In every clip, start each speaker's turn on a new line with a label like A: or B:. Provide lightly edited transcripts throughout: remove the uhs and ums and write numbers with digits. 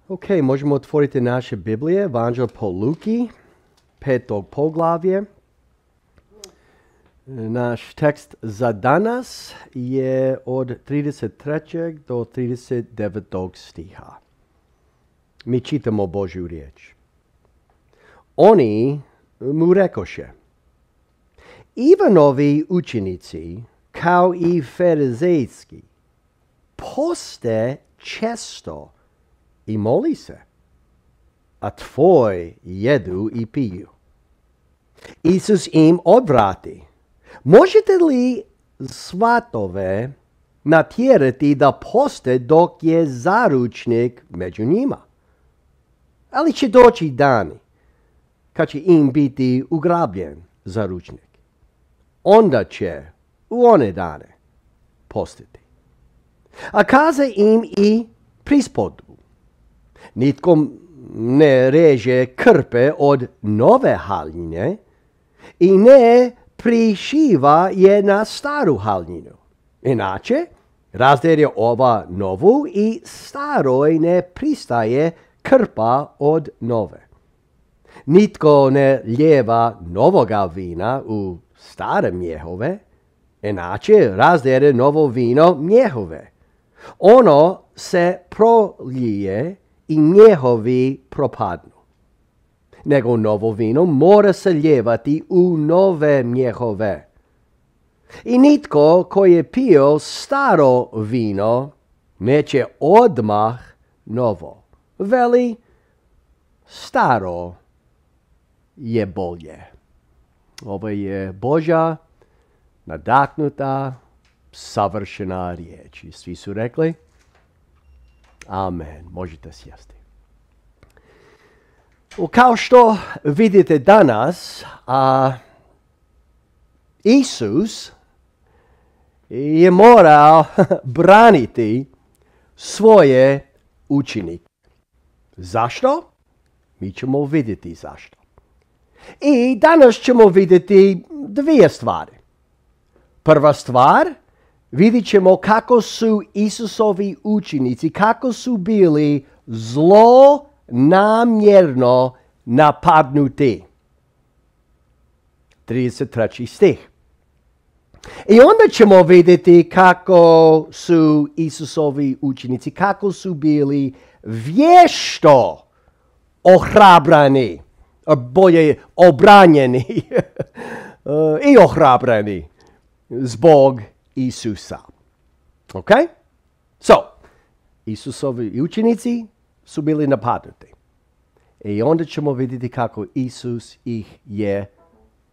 A: Ok, možemo otvoriti naše Biblije, Evanđelje po Luki, 5. poglavlje. Naš tekst za danas je od 33. do 39. stiha. Mi čitamo Božju riječ. Oni mu rekoše: Ivanovi učenici, kao i farizejski, poste često i moli se, a tvoj jedu i piju. Isus im odvrati: Možete li svatove natjerati da poste dok je zaručnik među njima? Ali će doći dani kad će im biti ugrabljen zaručnik. Onda će u one dane postiti. A kaze im i prispodu: Nitko ne reže krpe od nove haljine i ne prišiva je na staru haljinu. Inače, razderje ova novu i staroj ne pristaje krpa od nove. Nitko ne lijeva novoga vina u stare mjehove, inače razderje novo vino mjehove. Ono se prolije i mjehovi propadnu. Nego novo vino mora se lijevati u nove mjehove. I nitko koji je pio staro vino neće odmah novo. Veli, staro je bolje. Ovo je Božja nadahnuta, savršena riječ. I svi su rekli amen. Možete sjesti. Kao što vidite danas, Isus je morao braniti svoje učenike. Zašto? Mi ćemo vidjeti zašto. I danas ćemo vidjeti dvije stvari. Prva stvar, vidjet ćemo kako su Isusovi učenici, kako su bili zlonamjerno napadnuti. 33. stih. I onda ćemo vidjeti kako su Isusovi učenici, kako su bili vješto ohrabrani, bolje obranjeni i ohrabrani zbog Isusa. Ok? So, Isusovi učenici su bili napadnuti. I onda ćemo vidjeti kako Isus ih je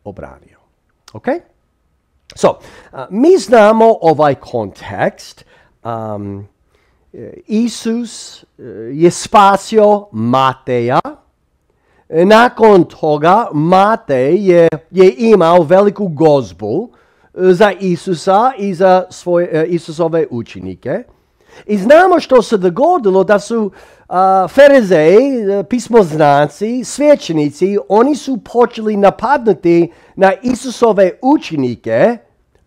A: obranio. Ok? So, mi znamo ovaj kontekst. Isus je spasio Mateja. Nakon toga Matej je imao veliku gozbu za Isusa i za Isusove učenike. I znamo što se dogodilo, da su farizeji, pismoznanci, svećenici, oni su počeli napadnuti na Isusove učenike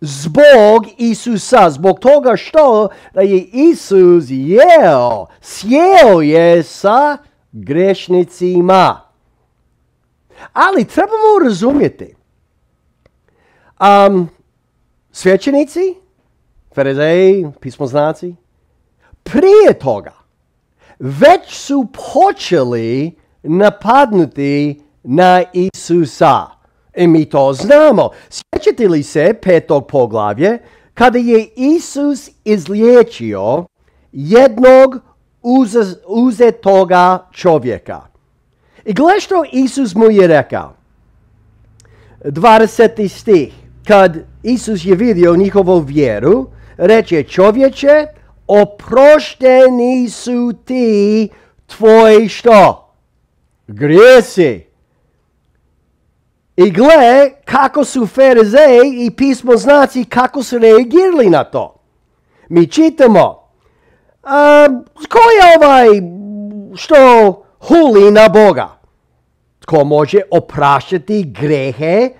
A: zbog Isusa, zbog toga što je Isus sjeo je sa grešnicima. Ali trebamo razumjeti, svećenici, farizeji, pismoznanci, prije toga već su počeli napadnuti na Isusa. I mi to znamo. Sjećate li se 5. poglavlje, kada je Isus izliječio jednog uzetoga čovjeka. I gle što Isus mu je rekao. 20. stih. Kad Isus je vidio njihovu vjeru, reče: Čovječe, oprošteni su ti tvoji što? Grijesi. I gle kako su farizeji i pismoznanci, kako su reagirali na to. Mi čitamo: Ko je ovaj što huli na Boga? Tko može opraštati grehe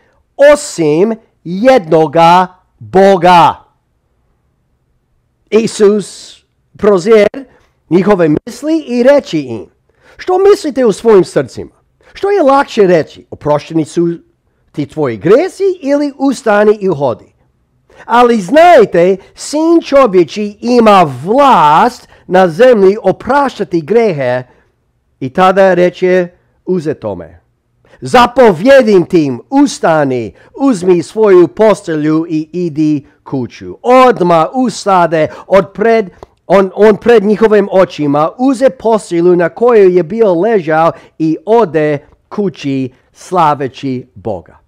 A: osim jednoga Boga? Isus prozir njihove misli i reći im: Što mislite u svojim srcima? Što je lakše reći? Oprošteni su ti tvoji gresi ili ustani i hodi? Ali znajte, Sin čovječji ima vlast na zemlji opraštati grehe i tada reče uzetome. Zapovjedim tim, ustani, uzmi svoju postelju i idi kuću. Odmah ustade on pred njihovim očima uze postelju na kojoj je bio ležao i ode kući slaveći Boga.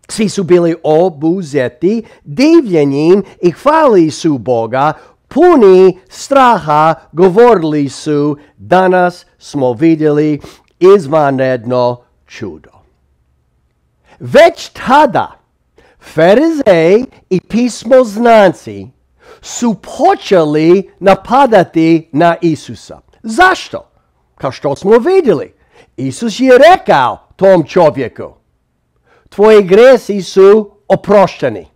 A: Svi su bili obuzeti divljenjem i hvalili su Boga, puni straha govorili su, danas smo vidjeli izvanredno čudo. Već tada Farizeji i pismoznanci su počeli napadati na Isusa. Zašto? Kao što smo vidjeli, Isus je rekao tom čovjeku, tvoji gresi su oprošteni.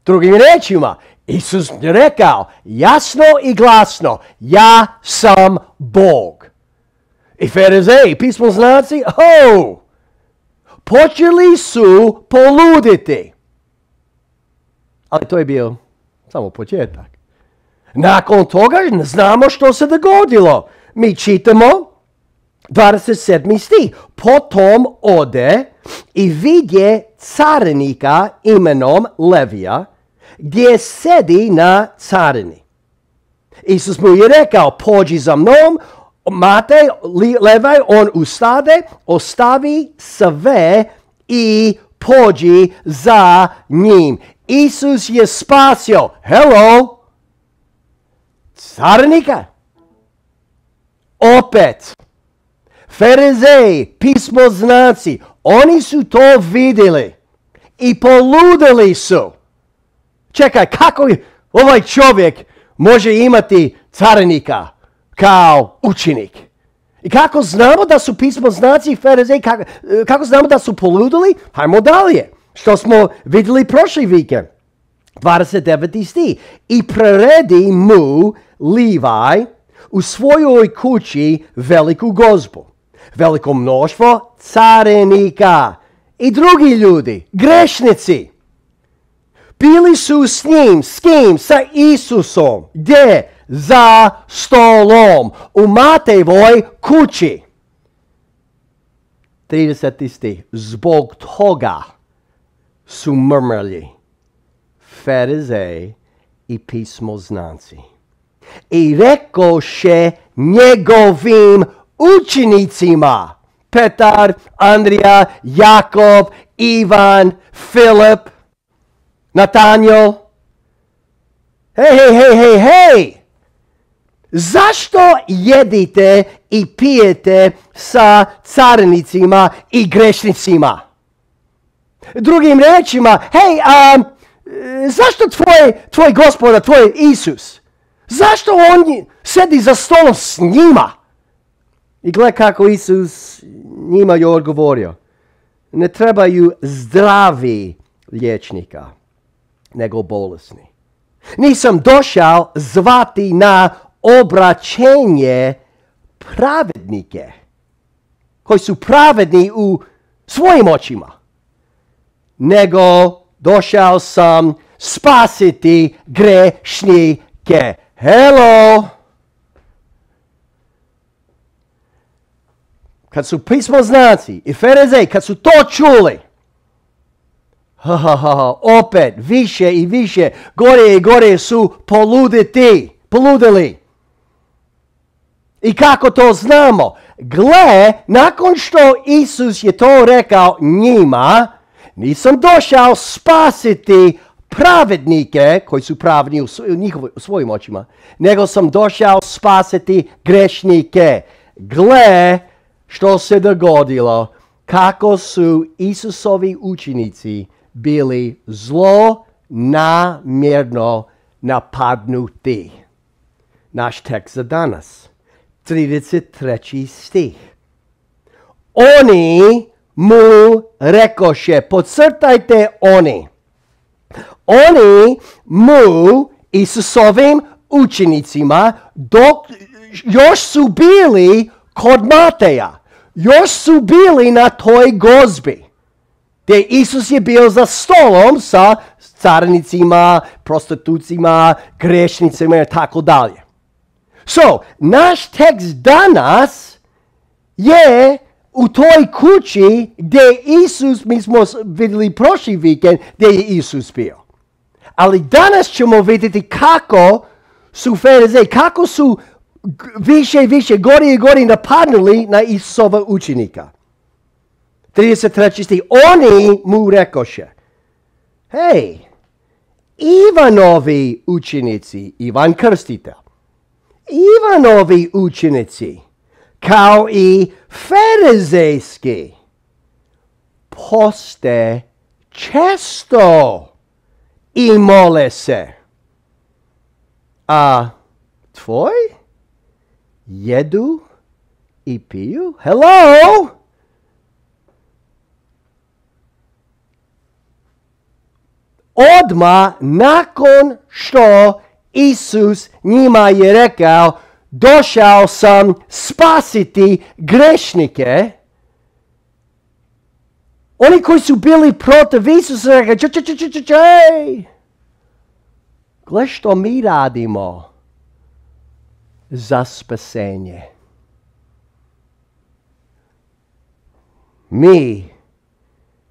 A: Drugim riječima, Isus je rekao jasno i glasno, ja sam Bog. I Farizeji, pismoznanci, počeli su poluditi. Ali to je bio samo početak. Nakon toga znamo što se dogodilo. Mi čitamo 27. stih. Potom ode i vidje carinika imenom Levija, gdje sedi na carini. Isus mu je rekao, pođi za mnom, Matej, Levaj, on ustade, ostavi sve i pođi za njim. Isus je spasio, carinika. Opet, Farizeji, pismoznanci, oni su to vidjeli i poludili su. Čekaj, kako ovaj čovjek može imati carinika kao učenik? I kako znamo da su pismoznanci i Farizeji, kako znamo da su poludili? Hajmo dalje. Što smo vidjeli prošli vikend. 29. stih. I preredi mu Levaj u svojoj kući veliku gozbu. Veliko mnoštvo carinika i drugi ljudi, grešnici. Bili su s njim, s kim? Sa Isusom. Gdje? Za stolom. U Matejevoj kući. 30. stih. Zbog toga su mrmrali Farizeji i pismoznanci. I rekoše njegovim učenicima, Petar, Andrija, Jakov, Ivan, Filip, Natanjel, hej, zašto jedite i pijete sa carinicima i grešnicima? Drugim riječima, zašto tvoj gospodar, tvoj Isus, zašto on sedi za stolom s njima? I gle kako Isus njima je odgovorio. Ne trebaju zdravi liječnika, nego bolesni. Nisam došao zvati na obraćenje pravednike, koji su pravedni u svojim očima, nego došao sam spasiti grešnike. Kad su pismoznanci i Farizeji, kad su to čuli, opet više i više, gore i gore su poludili. I kako to znamo? Gle, nakon što Isus je to rekao njima, nisam došao spasiti pravednike, koji su pravedni u svojim očima, nego sam došao spasiti grešnike. Gle, što se dogodilo, kako su Isusovi učenici bili zlonamjerno napadnuti. Naš tekst za danas, 33. stih. Oni mu rekoše, podcrtajte oni mu Isusovim učenicima, dok još su bili kod Mateja. Još su bili na toj gozbi, gdje Isus je bio za stolom sa carinicima, prostitucima, grešnicima i tako dalje. So, naš tekst danas je u toj kući gdje Isus, mi smo vidjeli prošli vikend, gdje je Isus bio. Ali danas ćemo vidjeti kako su Farizeji, kako su više i više, gori i gori napadnuli na Isusova učenika. 33. stih, oni mu rekoše, hej, Ivanovi učenici, Ivan Krstitelj, Ivanovi učenici, kao i farizejski, poste često i mole se. A tvoj jedu i piju? Hello? Odmah nakon što Isus njima je rekao, došao sam spasiti grešnike, oni koji su bili protiv Isusa rekao, gle što mi radimo za spasenje. Mi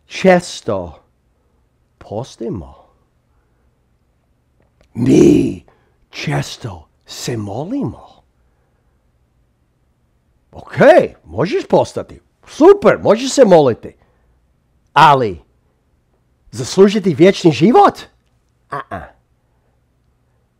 A: često postimo. Mi često se molimo. Ok, možeš postati. Super, možeš se moliti. Ali, zaslužiti vječni život?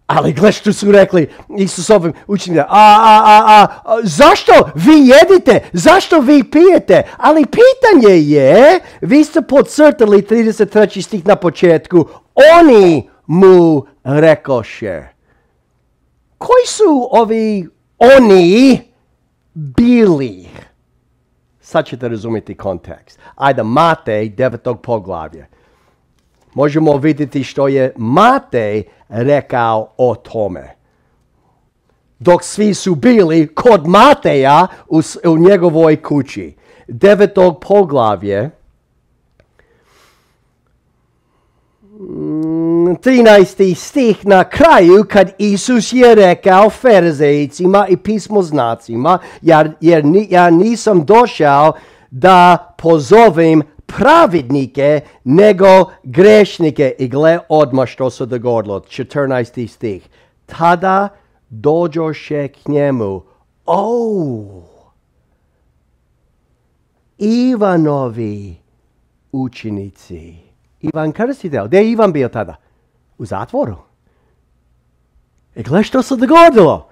A: Ali gle što su rekli Isusovim učenicima, zašto vi jedite? Zašto vi pijete? Ali pitanje je, vi ste podcrtali 33. stih na početku, oni mu rekoše. Koji su ovi oni bili? Sad ćete razumjeti kontekst. Ajde, Matej 9. poglavlje. Možemo vidjeti što je Matej rekao o tome. Dok svi su bili kod Mateja u njegovoj kući. 9. poglavlje. 13. stih na kraju kad Isus je rekao farizejcima i pismoznacima, jer ja nisam došao da pozovem pravednike nego grešnike. I gle odmah što se dogodilo. 14. stih. Tada dođoše k njemu. Ivanovi učenici. Ivan Krstitelj. Gdje je Ivan bio tada? U zatvoru. I gle što se dogodilo.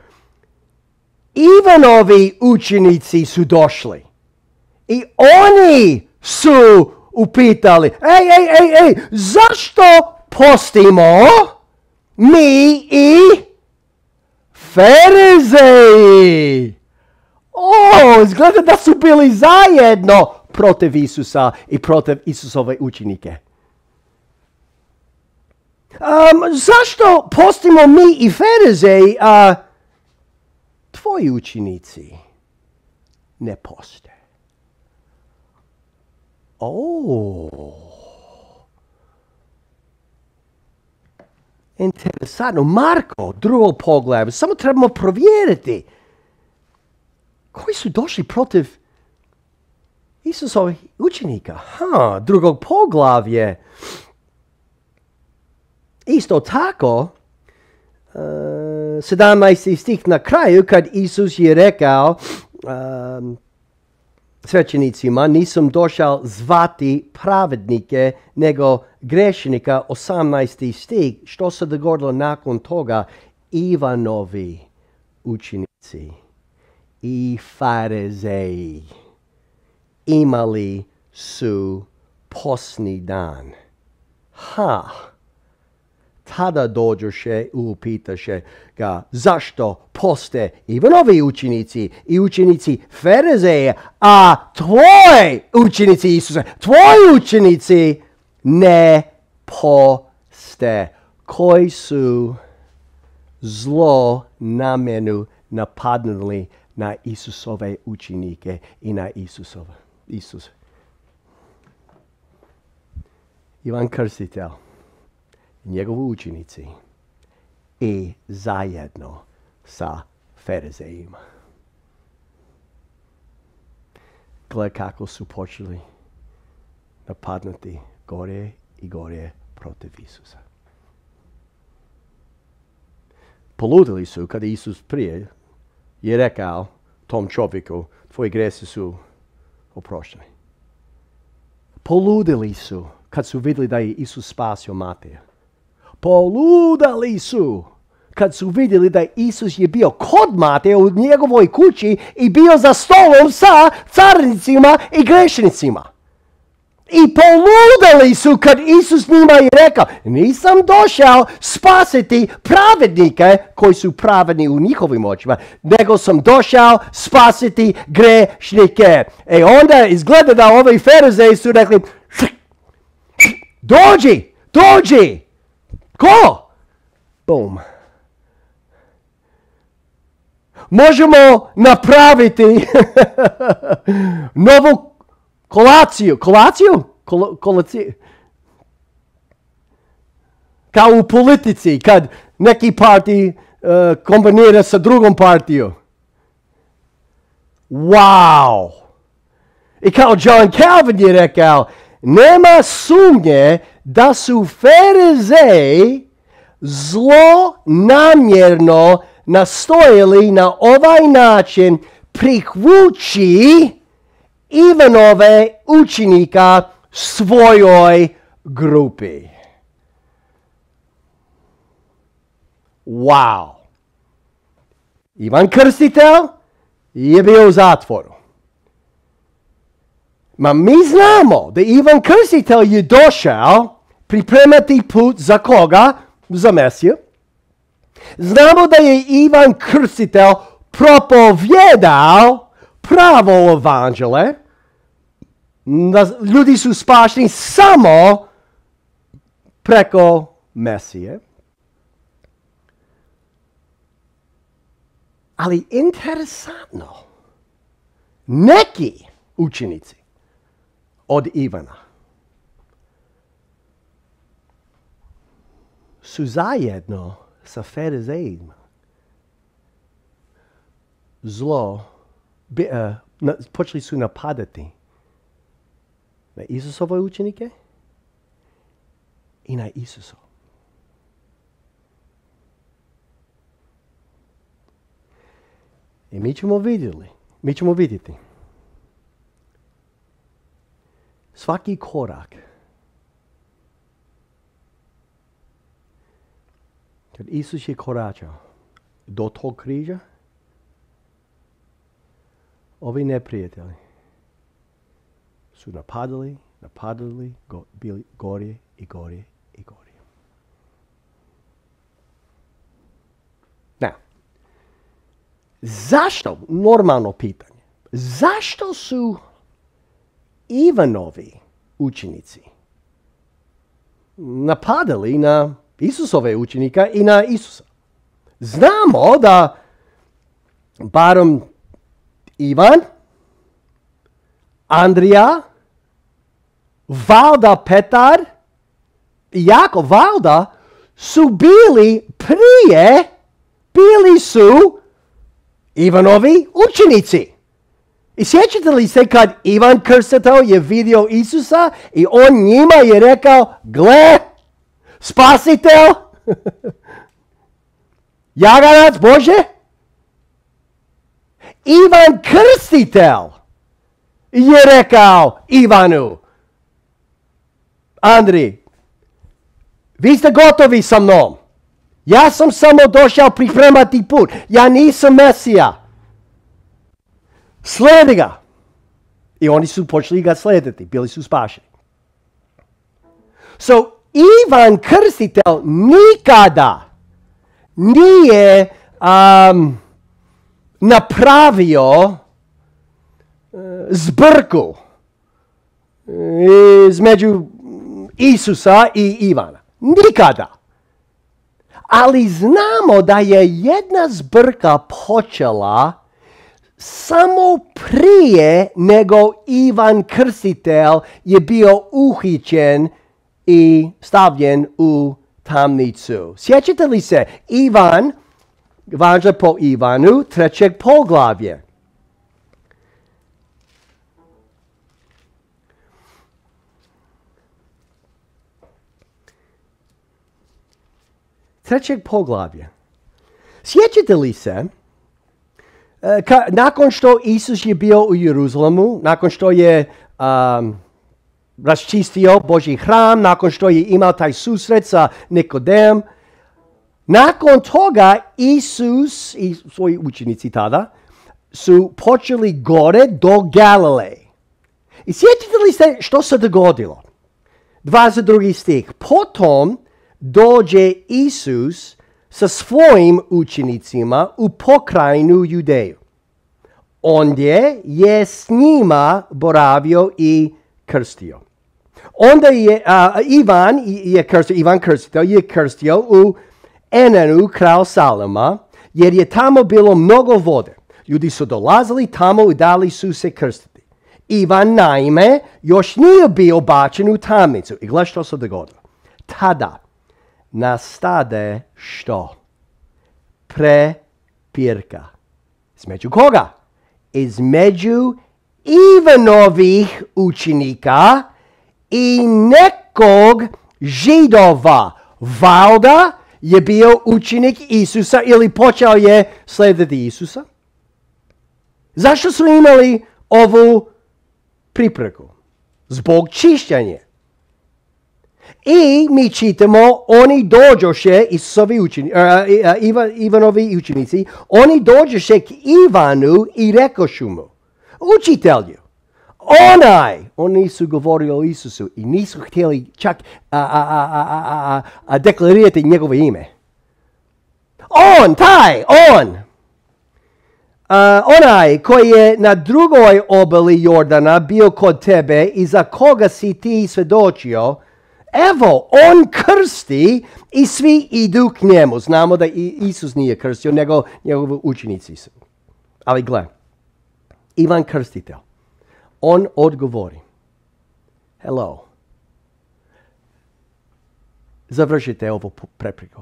A: Ivanovi učenici su došli. I oni su upitali, ej, zašto postimo mi i Farizeji? Izgleda da su bili zajedno protiv Isusa i protiv Isusove učenike. Zašto postimo mi i Farizeji, a tvoji učenici ne poste? Interesantno. Marko, drugo poglavlje. Samo trebamo provjeriti. Koji su došli protiv Isusovih učenika? Drugog poglavlje. Isto tako, 17. stih na kraju, kad Isus je rekao svećenicima, nisam došao zvati pravednike, nego grešnika, 18. stih, što se dogodilo nakon toga, Ivanovi učenici i Farizeji imali su postni dan. Tada dođoše i upitaše ga, zašto poste Ivanovi učenici i učenici Farizeje, a tvoji učenici Isuse, tvoji učenici ne poste, koji su zlo namjenu napadnuli na Isusove učenike i na Isus. Ivan Krstitelj, njegovi učenici i zajedno sa Farizejima. Gle kako su počeli napadnuti gore i gore protiv Isusa. Poludili su kada Isus prije je rekao tom čovjeku, tvoji gresi su oprošteni. Poludili su kad su vidjeli da je Isus spasio Mateja. Poludali su kad su vidjeli da Isus je bio kod Mateja u njegovoj kući i bio za stolom sa carnicima i grešnicima. I poludali su kad Isus njima je rekao, nisam došao spasiti pravednike koji su pravedni u njihovim očima, nego sam došao spasiti grešnike. Onda izgleda da ovi Farizeji su rekli, dođi! Ko? Bum. Možemo napraviti novu kolaciju. Kao u politici, kad neki partij kombinira sa drugom partijom. Wow! I kao John Calvin je rekao, nema sumnje da su Farizeji zlonamjerno nastojali na ovaj način prikvući Ivanove učenika svojoj grupi. Wow! Ivan Krstitelj je bio u zatvoru. Ma mi znamo da Ivan Krstitelj je došao pripremati put za koga? Za Mesiju. Znamo da je Ivan Krstitelj propovjedao pravo evanđelje. Ljudi su spašeni samo preko Mesije. Ali interesantno, neki učenici od Ivana su zajedno sa Farizejima počeli su napadati na Isusove učenike i na Isusa. I mi ćemo vidjeti svaki korak kad Isus je koračao do tog križa, ovi neprijatelji su napadali, bili gore i gore i gore. Now, zašto, normalno pitanje, zašto su Ivanovi učenici napadali na Isusove učenika i na Isusa? Znamo da barem Ivan, Andrija, valjda Petar i Jakov valjda su bili su Ivanovi učenici. I sjećate li se kad Ivan Krstitelj je vidio Isusa i on njima je rekao, gle, spasitelj, jaganac Bože? Ivan Krstitelj je rekao Ivanu, Andri, vi ste gotovi sa mnom. Ja sam samo došao pripremati put. Ja nisam Mesija. Slijedi ga. I oni su počeli ga slijediti. Bili su spašeni. So, Ivan Krstitelj nikada nije napravio zbrku između Isusa i Ivana. Nikada. Ali znamo da je jedna zbrka počela samo prije nego Ivan Krstitelj je bio uhićen i stavljen u tamnicu. Sjećate li se? Ivan, važno po Ivanu, 3. poglavlje. Trećeg poglavlja. Sjećate li se, nakon što Isus je bio u Jeruzalemu, nakon što je raščistio Božji hram, nakon što je imao taj susret sa Nikodem, nakon toga Isus i svoji učenici tada su počeli gore do Galileje. I sjećate li se što se dogodilo? 22. stih. Potom dođe Isus sa svojim učenicima u pokrajinu Judeju. Ondje je s njima boravio i krstio. Onda je Ivan Krstitelj je krstio u Enanu kraj Salama, jer je tamo bilo mnogo vode. Ljudi su dolazili tamo i dali su se krstiti. Ivan naime još nije bio bačen u tamnicu. I gledaj što se dogodilo. Tada nastade što? Prepirka. Između koga? Između Ivanovih učenika i nekog Židova. Valjda je bio učenik Isusa ili počeo je slijediti Isusa. Zašto su imali ovu priprku? Zbog čišćenja. I mi čitamo, oni dođoše, Ivanovi učenici, oni dođoše k Ivanu i rekošu mu, učitelju, oni su govorili o Isusu i nisu htjeli čak deklarirati njegovo ime. Onaj koji je na drugoj obali Jordana bio kod tebe i za koga si ti svjedočio, evo, on krsti i svi idu k njemu. Znamo da Isus nije krstio, nego njegovi učenici su. Ali gle, Ivan Krstitelj, on odgovori, hello, završite ovu prepreku.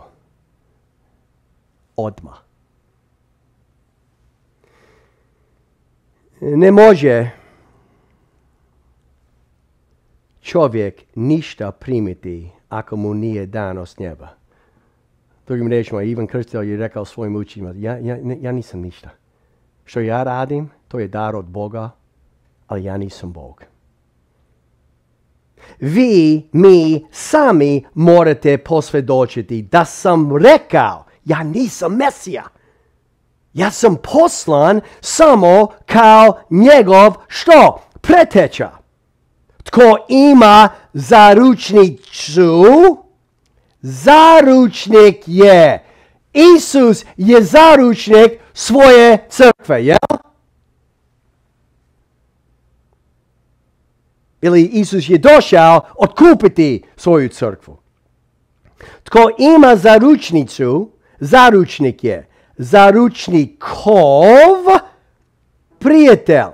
A: Odmah. Ne može čovjek ništa primiti ako mu nije dano s neba. Drugim riječima, Ivan Krstitelj je rekao svojim učenicima, ja nisam ništa. Što ja radim, to je dar od Boga, ali ja nisam Bog. Mi sami morate posvjedočiti da sam rekao, ja nisam Mesija. Ja sam poslan samo kao njegov što? Preteča. Tko ima zaručnicu, zaručnik je. Isus je zaručnik svoje crkve, jel? Ili Isus je došao otkupiti svoju crkvu. Tko ima zaručnicu, zaručnik je. Zaručnikov prijatelj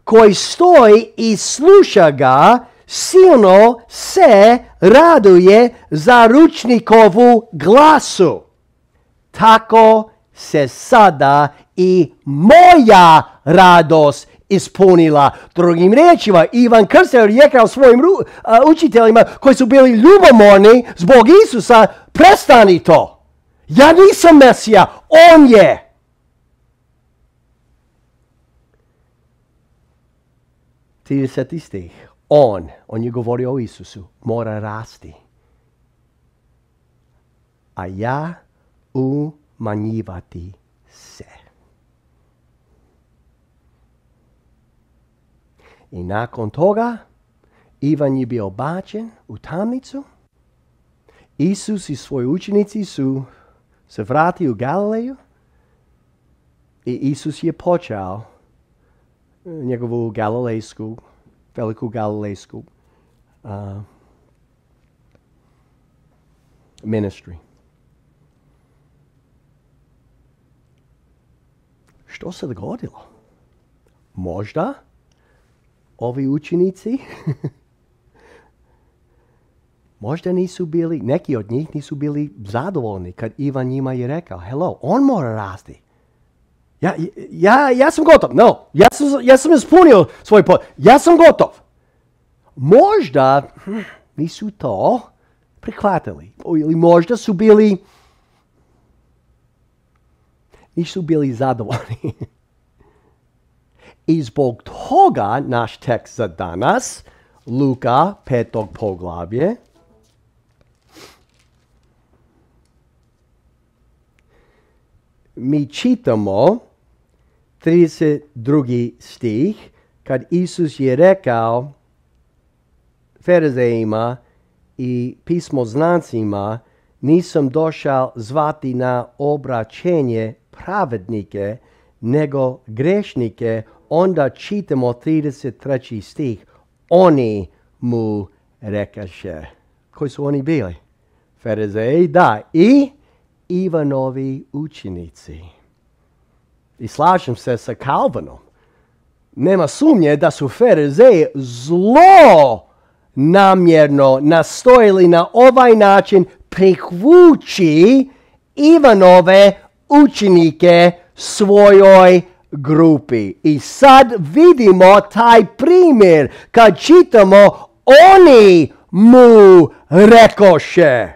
A: koji stoji i sluša ga, silno se raduje zaručnikovu glasu. Tako se sada i moja radost ispunila. Drugim riječima, Ivan Krstitelj je rekao svojim učiteljima koji su bili ljubomorni zbog Isusa, prestani to. Ja nisam Mesija, on je. Trideseti stih. On je govorio o Isusu, mora rasti. A ja umanjivati se. I nakon toga, Ivan je bio bačen u tamnicu. Isus i svoji učenici su se vratili u Galileju. I Isus je počeo njegovu veliku galilejsku ministry. Što se dogodilo? Možda ovi učenici možda nisu bili, neki od njih nisu bili zadovoljni kad Ivan njima je rekao, hello, on mora rasti. Ja sam gotov. No, ja sam ispunio svoj ja sam gotov. Možda nisu to prihvatili. Ili možda su bili nisu bili zadovoljni. I zbog toga naš tekst za danas, Luka 5. poglavlje, mi čitamo 32. stih, kad Isus je rekao Farizejima i pismoznancima, nisam došao zvati na obraćenje pravednike, nego grešnike. Onda čitamo 33. stih. Oni mu rekaše. Koji su oni bili? Farizeji, da. I Ivanovi učenici. I slažem se sa Calvinom. Nema sumnje da su Farizeji zlo namjerno nastojili na ovaj način prikvući Ivanove učenike svojoj grupi. I sad vidimo taj primjer kad čitamo oni mu rekoše.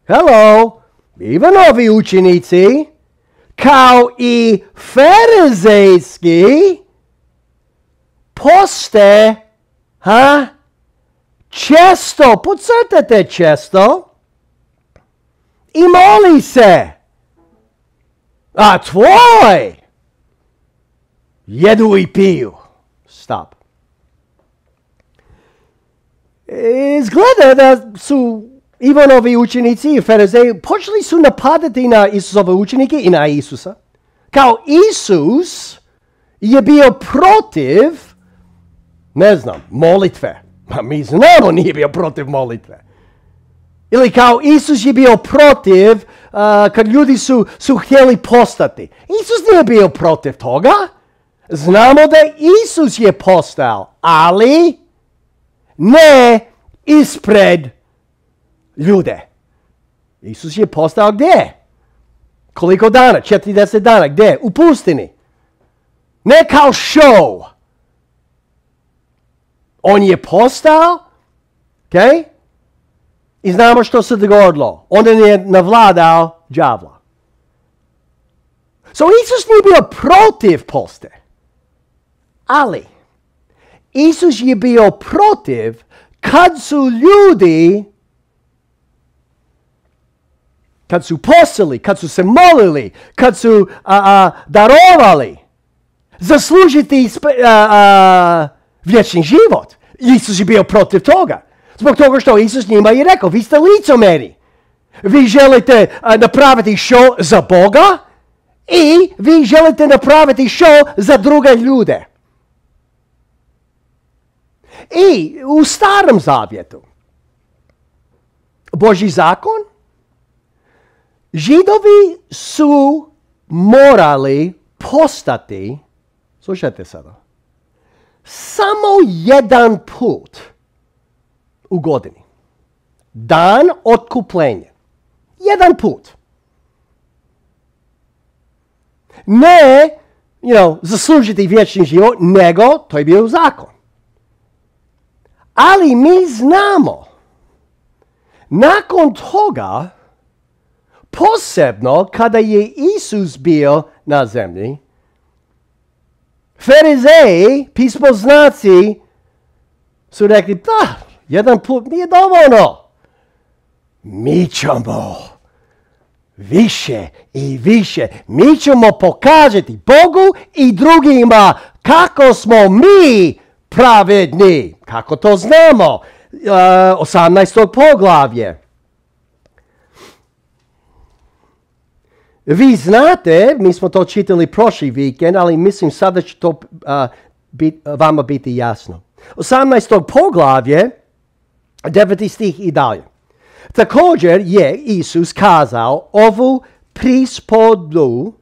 A: Hello, Ivanovi učenici kao i farizejski poste često, podcrtajte često, i moli se. A tvoj jedu i piju. Stop. Izgleda da su Ivanovi učenici i farizeji počeli su napadati na Isusove učenike i na Isusa. Kao Isus je bio protiv, ne znam, molitve. Ma mi znamo nije bio protiv molitve. Ili kao Isus je bio protiv kad ljudi su htjeli postati. Isus nije bio protiv toga. Znamo da Isus je postao, ali ne ispred ljude. Isus je postao gdje? Koliko dana? 40 dana. Gdje? U pustini. Ne kao show. On je postao, okay? I znamo što se dogodilo. On je navladao đavla. So Isus nije bio protiv poste. Ali Isus je bio protiv kad su ljudi, kad su postili, kad su se molili, kad su darovali zaslužiti vječni život. Isus je bio protiv toga. Zbog toga što Isus njima je rekao, vi ste licemjeri. Vi želite napraviti show za Boga i vi želite napraviti show za druge ljude. I u Starom zavjetu, Božji zakon, Židovi su morali postati, slušajte sada, samo jedan put u godini. Dan otkupljenja. Jedan put. Ne, zaslužiti vječni život, nego to je bio zakon. Ali mi znamo, nakon toga, posebno kada je Isus bio na zemlji, Farizeji, pismoznaci, su rekli, da, jedan put nije dovoljno. Mi ćemo više i više. Mi ćemo pokazati Bogu i drugima kako smo mi pravedni. Kako to znamo? 18. poglavlje. Vi znate, mi smo to čitali prošli vikend, ali mislim sada će to vama biti jasno. 18. poglavlje, 9. stih i dalje. Također je Isus kazao ovu prispodu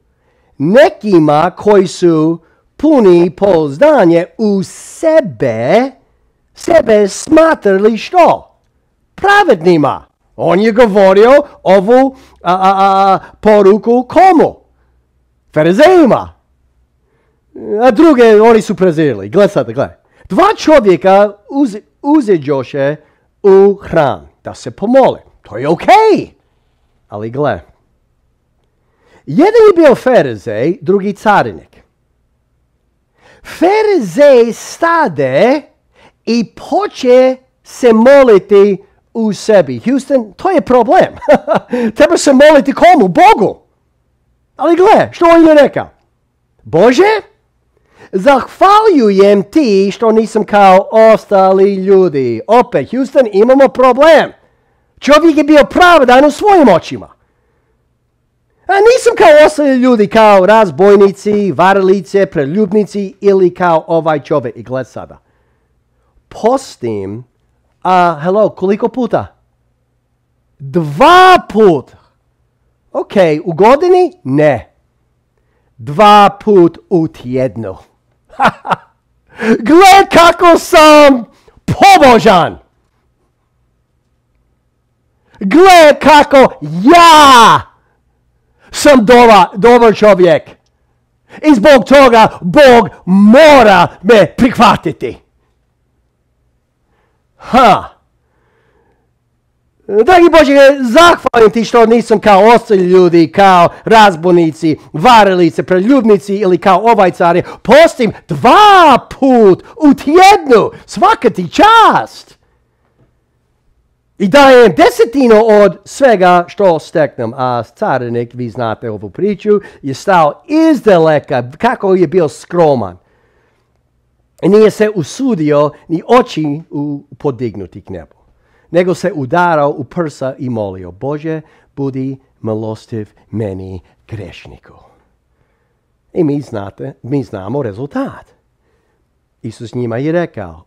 A: nekima koji su puni pouzdanje u sebe smatrali što? Pravednima. On je govorio ovu poruku komu? Farizejima. A druge oni su prezirali. Gle sad. Dva čovjeka uzeđoše u hram da se pomole. To je okej. Ali gle. Jedan je bio Farizej, drugi carinik. Farizej stade i poče se moliti u sebi. Houston, to je problem. Treba se moliti komu? Bogu. Ali gle, što on je rekao? Bože, zahvaljujem ti što nisam kao ostali ljudi. Opet, Houston, imamo problem. Čovjek je bio pravedan u svojim očima. A nisam kao ostali ljudi, kao razbojnici, varalice, preljubnici ili kao ovaj čovjek. I gled sada. Postim, koliko puta? 2 puta. Ok, u godini? Ne. 2 put u tjednu. Gle kako sam pobožan. Gle kako ja sam dobar čovjek. I zbog toga Bog mora me prihvatiti. Dragi Bože, zahvalim ti što nisam kao ostali ljudi, kao razbojnici, varalice, preljubnici ili kao ovaj car. Postim 2 put u tjednu. Svaka ti čast. I dajem desetinu od svega što steknem. A carinik, vi znate ovu priču, je stao izdaleka kako je bio skroman. I nije se usudio ni oči podignuti k nebu. Nego se udarao u prsa i molio, Bože, budi milostiv meni grešniku. I mi znamo rezultat. Isus njima je rekao,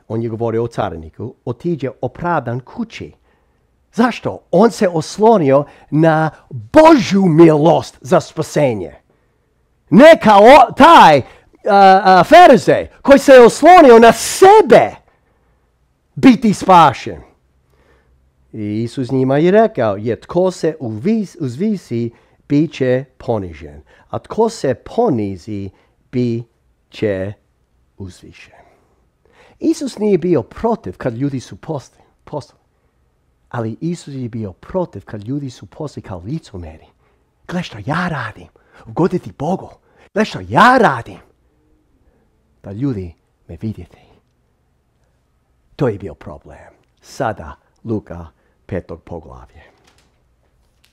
A: on je govorio o cariniku, otiđe opravdan kući. Zašto? On se oslonio na Božju milost za spasenje. Ne kao taj Farizej koji se oslonio na sebe biti spašen. I Isus njima je rekao, tko se uzvisi, bit će ponižen. A tko se ponizi, bit će uzvišen. Isus nije bio protiv kad ljudi su postali. Ali Isus je bio protiv kad ljudi su postali kao licemjeri. Gle što ja radim, ugoditi Bogu. Gle što ja radim, da ljudi me vidjeti. To je bio problem. Sada Luka 5. poglavlje.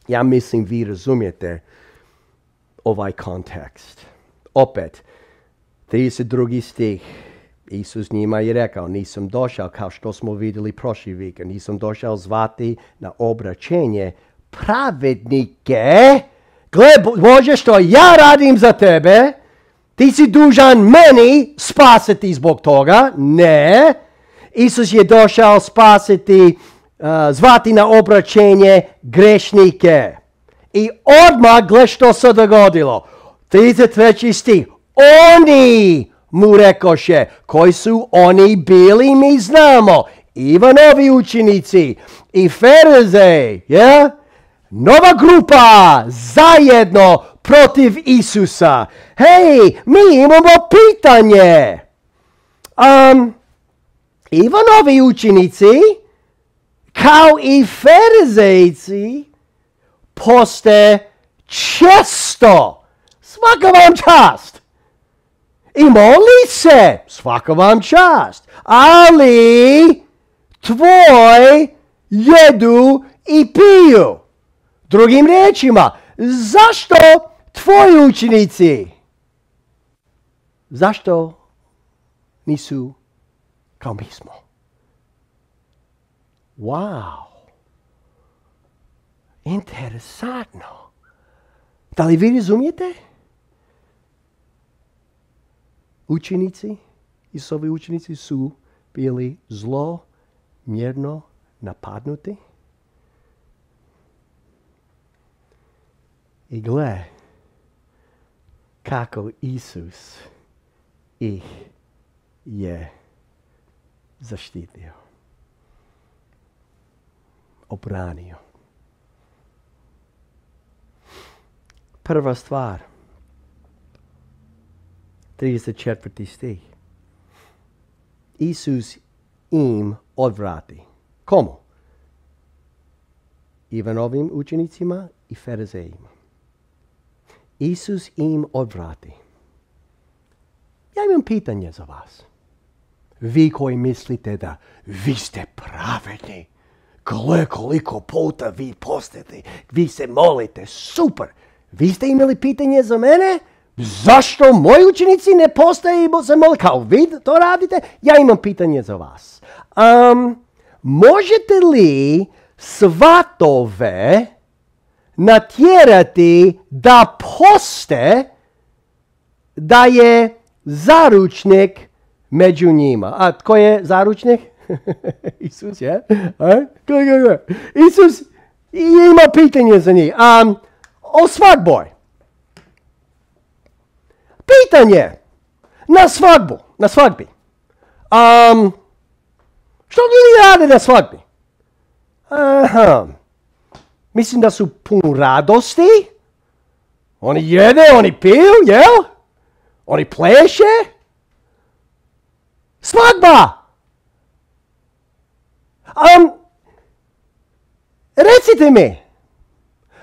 A: Ja mislim vi razumijete ovaj kontekst. Opet, 32. stih. Isus njima je rekao, nisam došao kao što smo vidjeli prošli vikend, nisam došao zvati na obraćenje pravednike. Gle Bože što ja radim za tebe, ti si dužan meni spasiti zbog toga. Ne. Isus je došao spasiti, zvati na obraćenje grešnike. I odmah gle što se dogodilo. 33. stih. Oni mu rekoše, koji su oni bili, mi znamo. Ivanovi učenici i Farizej, nova grupa zajedno protiv Isusa. Hej, mi imamo pitanje. Ivanovi učenici, kao i Farizejci, poste često. Svaka vam čast. I moli se. Svaka vam čast. Ali tvoj jedu i piju. Drugim riječima, zašto tvoji učenici? Zašto nisu kao mi smo? Wow. Interesantno. Da li vi razumijete? Učenici, Isusovi učenici su bili zlomjerno napadnuti. I gle, kako Isus ih je zaštitio, obranio. Prva stvar, 34. stih. Isus im odvrati. Komu? Ivanovim učenicima i farizejima. Isus im odvrati. Ja imam pitanje za vas. Vi koji mislite da vi ste pravedni. Gle koliko puta vi postete. Vi se molite. Super. Vi ste imali pitanje za mene? Zašto moji učenici ne postaju i se mole kao vi to radite? Ja imam pitanje za vas. Možete li svatove natjerati da poste da je zaručnik među njima? A tko je zaručnik? Isus je? Isus ima pitanje za njih. O svadboj. Pitanje na svadbi. Što ljudi rade na svadbi? Mislim da su pun radosti. Oni jede, oni piju, jel? Oni pleše. Svadba! Recite mi,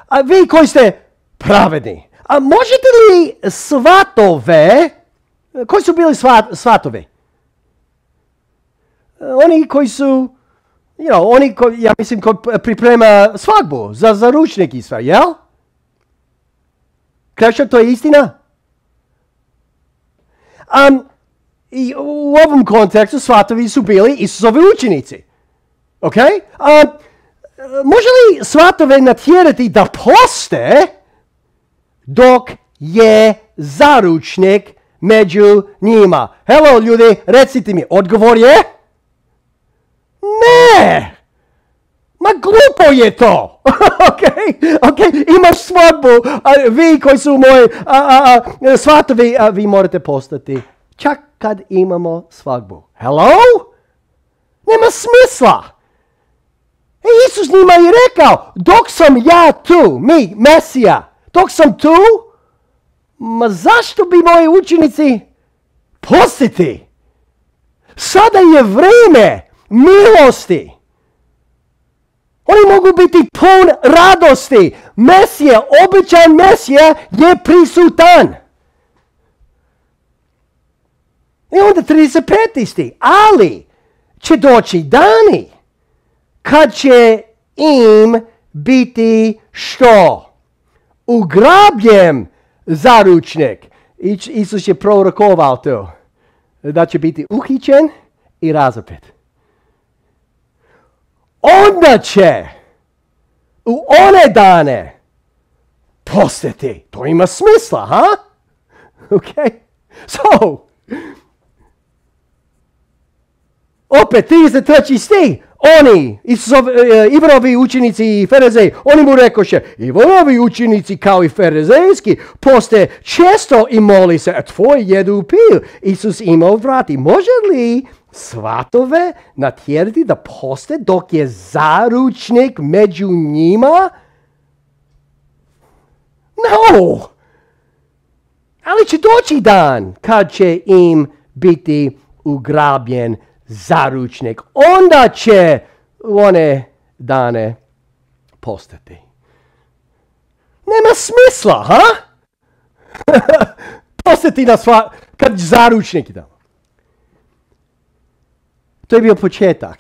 A: a vi koji ste pravedni, a možete li svatove, koji su bili svatovi? Oni koji su, ja mislim, koji priprema svadbu za ručnik i sve, jel? Krešo, to je istina? I u ovom kontekstu svatovi su bili Isusovi učenici. Ok? Može li svatove natjerati da poste dok je zaručnik među njima? Hello ljudi, recite mi, odgovor je? Ne! Ma glupo je to! Ok, imaš svadbu, vi koji su moji svatovi, vi morate postati. Čak kad imamo svadbu. Hello? Nema smisla! Isus njima je rekao, dok sam ja tu, Mesija, dok sam tu, ma zašto bi moji učenici postiti? Sada je vrijeme milosti. Oni mogu biti pun radosti. Mesija, obećan Mesija je prisutan. I onda 35. stih. Ali će doći dani kad će im biti što? Ugrabljen zaručnik. Isus je prorokovao to. Da će biti uhićen i razapet. Onda će u one dane postati. To ima smisla, ha? Okay? So, opet 33. stih. Oni, Ivanovi učenici i farizeji, oni mu rekoše, Ivanovi učenici kao i farizejski poste često i moli se, a tvoj jedu i piju. Isus ima odvrati. Može li svatove natjerati da poste dok je zaručnik među njima? No! Ali će doći dan kad će im biti ugrabljen zaručnik. Onda će one dane postati. Nema smisla, ha? Postati na kad zaručnik da. To je bio početak.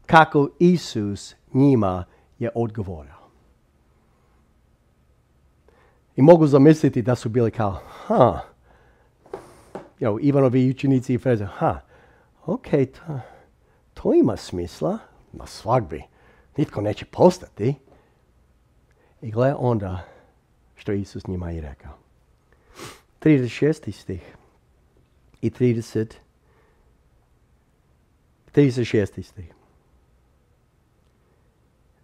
A: Kako Isus njima je odgovorio. I mogu zamisliti da su bili kao, Ivanovi učenici i farizeji, ok, to ima smisla, na svadbi. Nitko neće postati. I gle onda što Isus njima je rekao. 36. stih i 36. stih.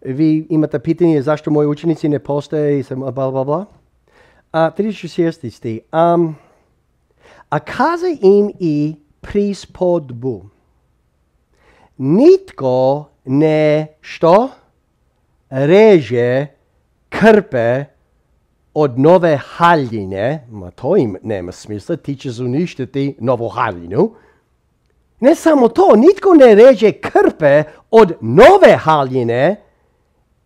A: Vi imate pitanje zašto moji učenici ne postaje i bla bla bla. 36 stih. A kaza im i prispodbu. Nitko ne što reže krpe od nove haljine, ma to im nema smisla, ti ćeš uništiti novu haljinu. Ne samo to, nitko ne reže krpe od nove haljine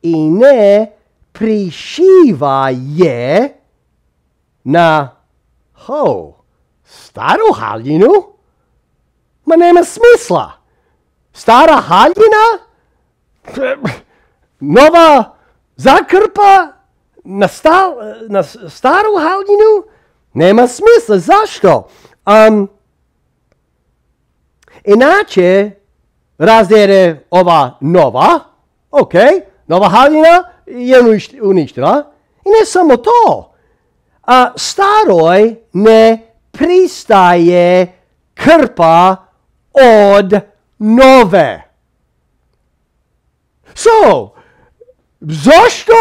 A: i ne prišiva je na staru haljinu. Ma nema smisla. Stara haljina, nova zakrpa na staru haljinu, nema smisla. Zašto? Inače, razdere ova nova, nova haljina je uništila. I ne samo to, staroj ne pristaje krpa od nove. Zašto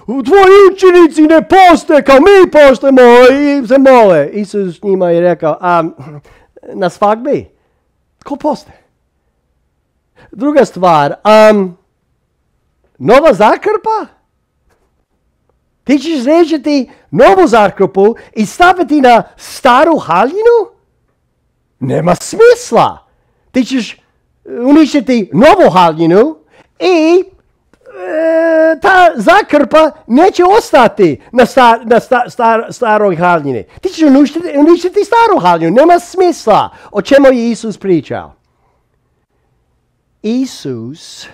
A: tvoji učenici ne poste kao mi postemo i se mole? Isus njima je rekao, na svadbi, ko poste? Druga stvar, nova zakrpa? Ti ćeš režiti novu zakrpu i staviti na staru haljinu? Nema smisla. Ti ćeš uništiti novu haljinu i ta zakrpa neće ostati na staroj haljini. Ti ćeš uništiti staru haljinu. Nema smisla. O čemu je Isus pričao? Isus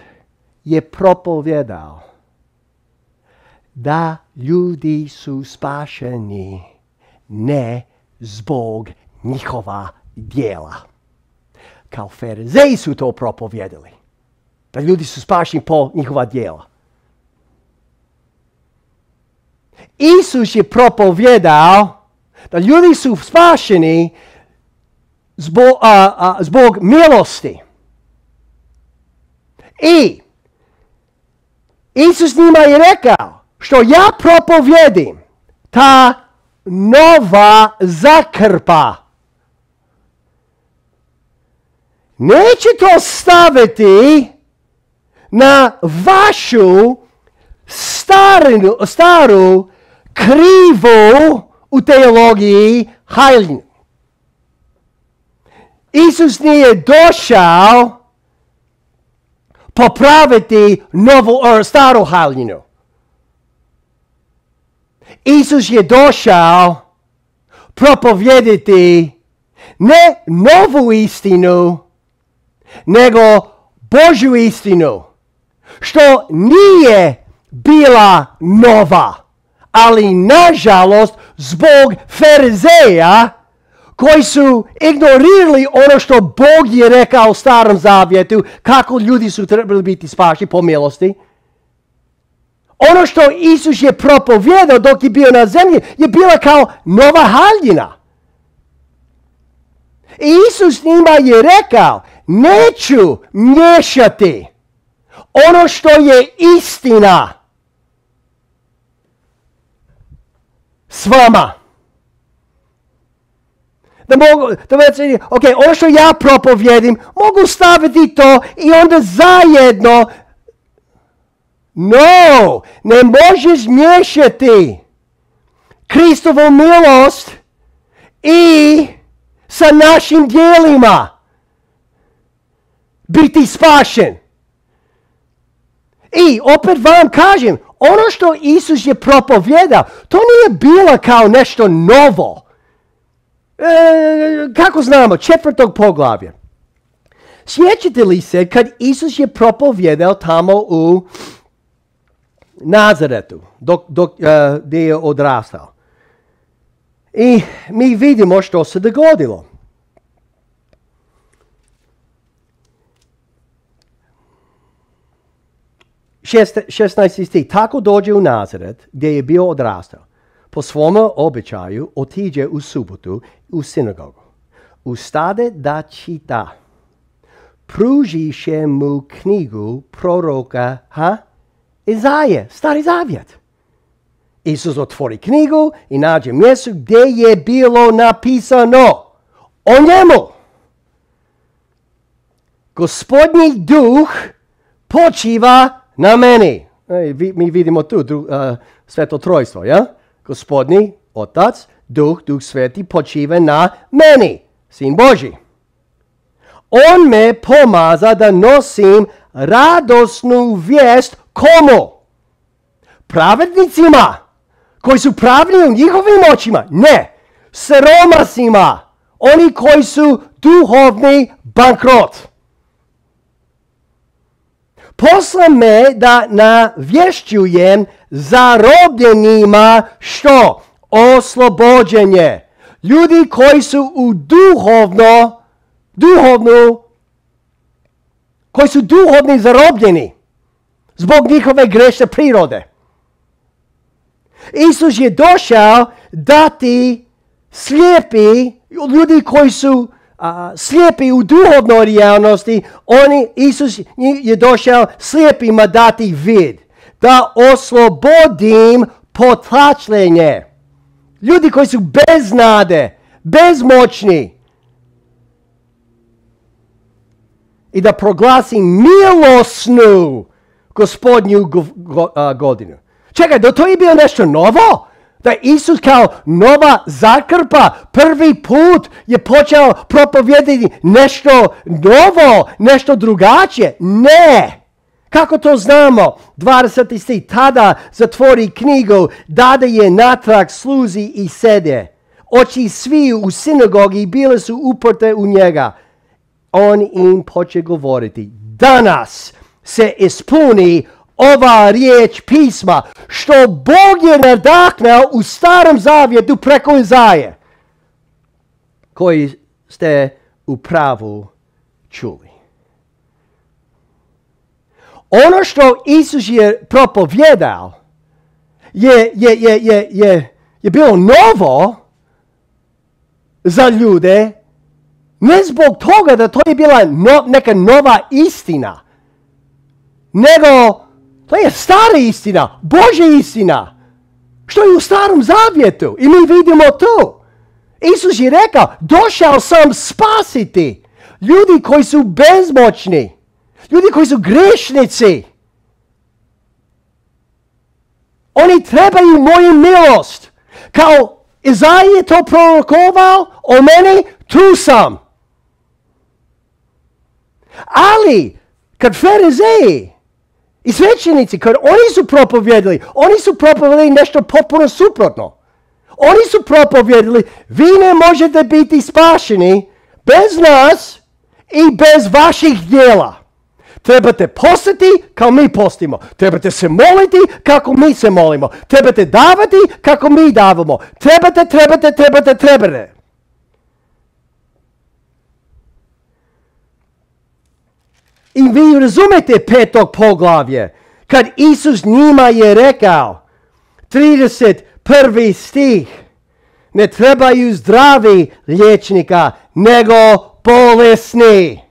A: je propovjedao da ljudi su spašeni ne zbog njihova djela. Kao Farizeji su to propovjedali. Da ljudi su spašeni po njihova djela. Isus je propovjedao da ljudi su spašeni zbog milosti. I Isus njima je rekao, što ja propovjedim, ta nova zakrpa, neće to staviti na vašu staru krivu u teologiji haljinu. Isus nije došao popraviti staru haljinu. Isus je došao propovijediti ne novu istinu, nego Božju istinu, što nije bila nova, ali nažalost zbog Farizeja koji su ignorirali ono što Bog je rekao u Starom Zavjetu, kako ljudi su trebali biti spašeni po milosti. Ono što Isus je propovjedao dok je bio na zemlji je bila kao nova haljina. I Isus njima je rekao, neću miješati ono što je istina s vama. Ono što ja propovjedim, mogu staviti to i onda zajedno. No, ne možeš miješati Kristovu milost i sa našim djelima biti spašen. I opet vam kažem, ono što Isus je propovjedao, to nije bilo kao nešto novo. Kako znamo, 4. poglavlje. Sjećate li se kad Isus je propovjedao tamo u Nazaretu, gdje je odrastao. I mi vidimo što se dogodilo. Šesnaesti stih. Tako dođe u Nazaret, gdje je bio odrastao. Po svom običaju otiđe u subotu u sinagogu. Ustade da čita. Pružiše mu knjigu proroka Izaje, Stari Zavjet. Isus otvori knjigu i nađe mjesto gdje je bilo napisano o njemu. Gospodnji duh počiva na meni. Mi vidimo tu sveto trojstvo, ja? Gospodnji Otac, Duh Sveti počiva na meni, Sin Božji. On me pomaza da nosim radosnu vijest komu? Pravednicima, koji su pravni u njihovim očima? Ne, siromasima, oni koji su duhovni bankrot. Posla me da navješćujem zarobljenima što? Oslobođenje. Ljudi koji su u koji su duhovni zarobljeni zbog njihove grešne prirode. Isus je došao dati slijepi, ljudi koji su slijepi u duhovnoj realnosti, Isus je došao slijepima dati vid, da oslobodim potlačenje. Ljudi koji su bez nade, bezmoćni. I da proglasim milosnu Gospodnju godinu. Čekaj, da to je bilo nešto novo? Da Isus kao nova zakrpa prvi put je počeo propovijedati nešto novo, nešto drugačije? Ne! Kako to znamo? 20. stih. Tada zatvori knjigu, dade je natrag sluzi i sede. Oči svi u sinagogi bile su uprte u njega. On im poče govoriti. Danas se ispuni ova riječ pisma, što Bog je nadahnuo u Starom Zavjetu preko Izaje, koji ste u pravu čuli. Ono što Isus je propovjedao je bilo novo za ljude, ne zbog toga da to je bila neka nova istina, nego to je stara istina, Božja istina, što je u Starom Zavjetu i mi vidimo to. Isus je rekao, došao sam spasiti ljudi koji su bezmoćni, ljudi koji su grešnici. Oni trebaju moju milost. Kao Izaja je to prorokovao o meni, tu sam. Ali, kad farizeji i svećenici, kad oni su propovijedali nešto potpuno suprotno. Oni su propovijedali, vi ne možete biti spašeni bez nas i bez vaših djela. Trebate postiti kao mi postimo. Trebate se moliti kako mi se molimo. Trebate davati kako mi davamo. Trebate. I vi razumete 5. poglavlje, kad Isus njima je rekao, 31. stih, ne trebaju zdravi liječnika, nego bolesni.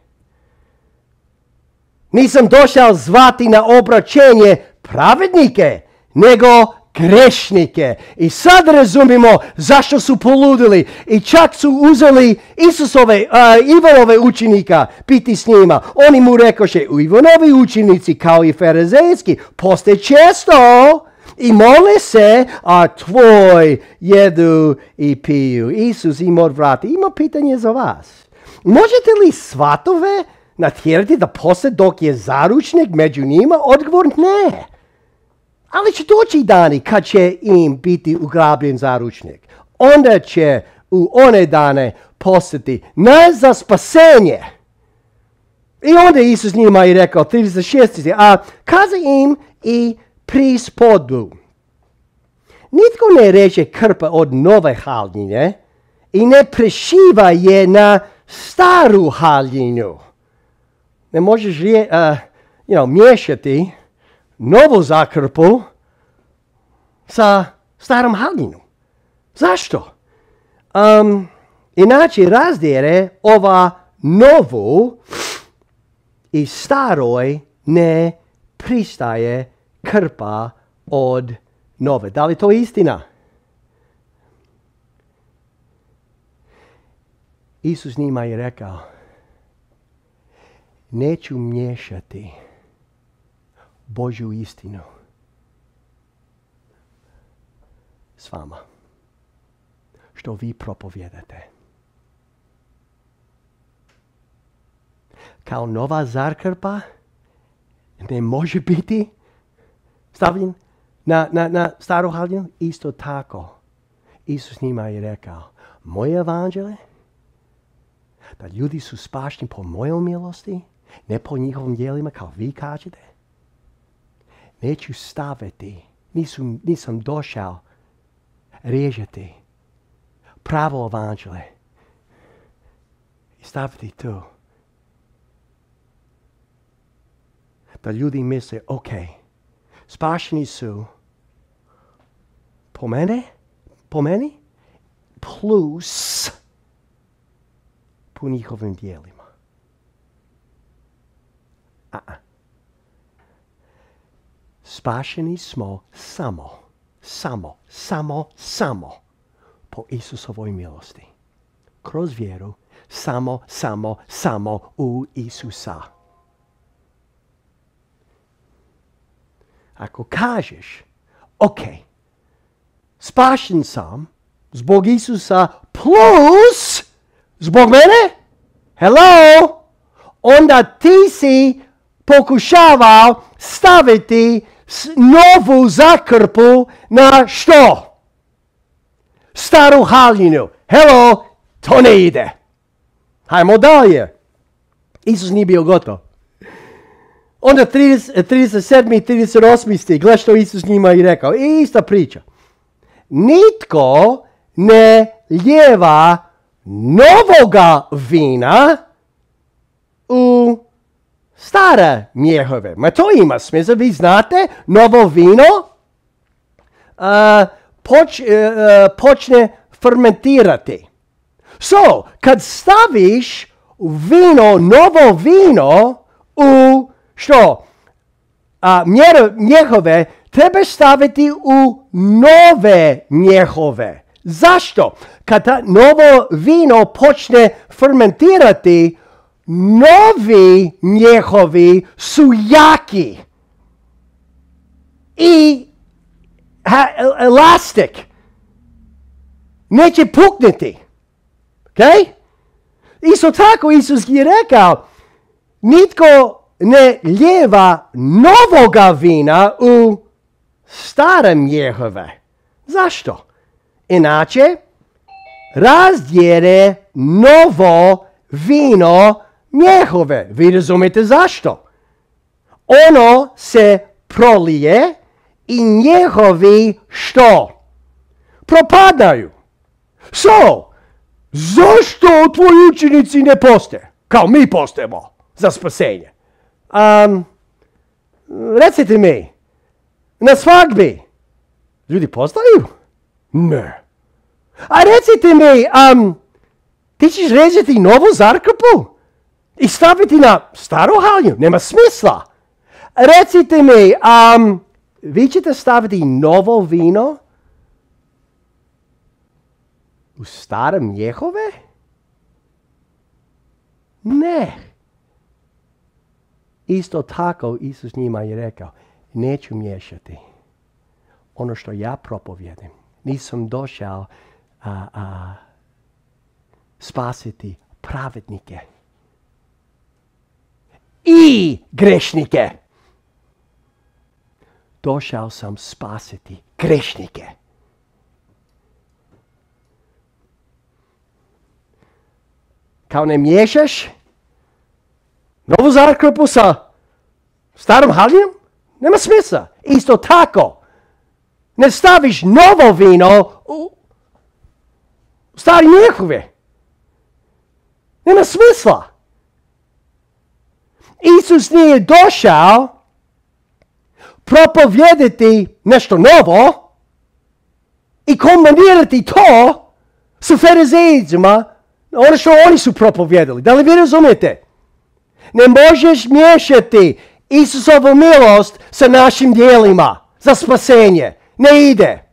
A: Nisam došao zvati na obraćenje pravednike, nego grešnike. I sad razumimo zašto su poludili i čak su uzeli Ivanove učenika biti s njima. Oni mu rekoše, Ivanovi učenici kao i farizejski poste često i mole se, a tvoj jedu i piju. Isus im odvrati, ima pitanje za vas. Možete li svatove natjerati da poste dok je zaručnik među njima? Odgovor ne. Ali će doći dani kad će im biti ugrabljen zaručnik. Onda će u one dane postati ne za spasenje. I onda Isus njima je rekao, 36. A kaza im i prispodu. Nitko ne reče krpa od nove haljine i ne prešiva je na staru haljinu. Ne možeš miješati novu zakrpu sa starom haljinom. Zašto? Inače razdjere ova novu i staroj ne pristaje krpa od nove. Da li to je istina? Isus njima je rekao, neću miješati Božju istinu s vama, što vi propovjedate. Kao nova zakrpa ne može biti stavljen na staru haljinu, isto tako. Isus njima je rekao, moje evanđelje, da ljudi su spašeni po mojoj milosti, ne po njihovim djelima, kao vi kažete. Neću staviti, nisam došao režati pravo evanđelje i staviti tu. Da ljudi misle, ok, spašeni su po meni, plus po njihovim dijelima. Spašeni smo samo po Isusovoj milosti. Kroz vjeru, samo u Isusa. Ako kažeš, ok, spašen sam zbog Isusa plus zbog mene, hello, onda ti si pokušavao staviti novu zakrpu na što? Staru haljinu. Hello, to ne ide. Hajmo dalje. Isus nije bio gotov. Onda 37. i 38. stih, gledaj što Isus njima i rekao. Ista priča. Nitko ne lijeva novoga vina u stare mjehove. Ma to ima smisla, vi znate, novo vino počne fermentirati. So, kad staviš novo vino u što? Mjehove, treba staviti u nove mjehove. Zašto? Kad novo vino počne fermentirati, novi mjehovi su jaki i elastik. Neće puknuti. Okay? Isto tako Isus je rekao, nitko ne lijeva novoga vina u stare mjehove. Zašto? Inače, razdjere novo vino mjehove. Vi razumijete zašto? Ono se prolije i mjehovi što? Propadaju. So, zašto tvoji učenici ne poste? Kao mi postajemo za spasenje. Recite mi, na svadbi ljudi postaju? Ne. A recite mi, ti ćeš rezati novu zakrpu i staviti na staru haljinu? Nema smisla. Recite mi, vi ćete staviti novo vino u stare mjehove? Ne. Isto tako Isus njima je rekao, neću miješati ono što ja propovjedim. Nisam došao spasiti pravednike i grešnike. Došao sam spasiti grešnike. Kao ne miješaš novu zakrpu sa starom haljinom? Nema smisla. Isto tako, ne staviš novo vino u stari mjehove. Nema smisla. Isus nije došao propovjedati nešto novo i kombinirati to sa farizejcima, ono što oni su propovjedali. Da li vi razumijete? Ne možeš miješati Isusovu milost sa našim djelima za spasenje. Ne ide.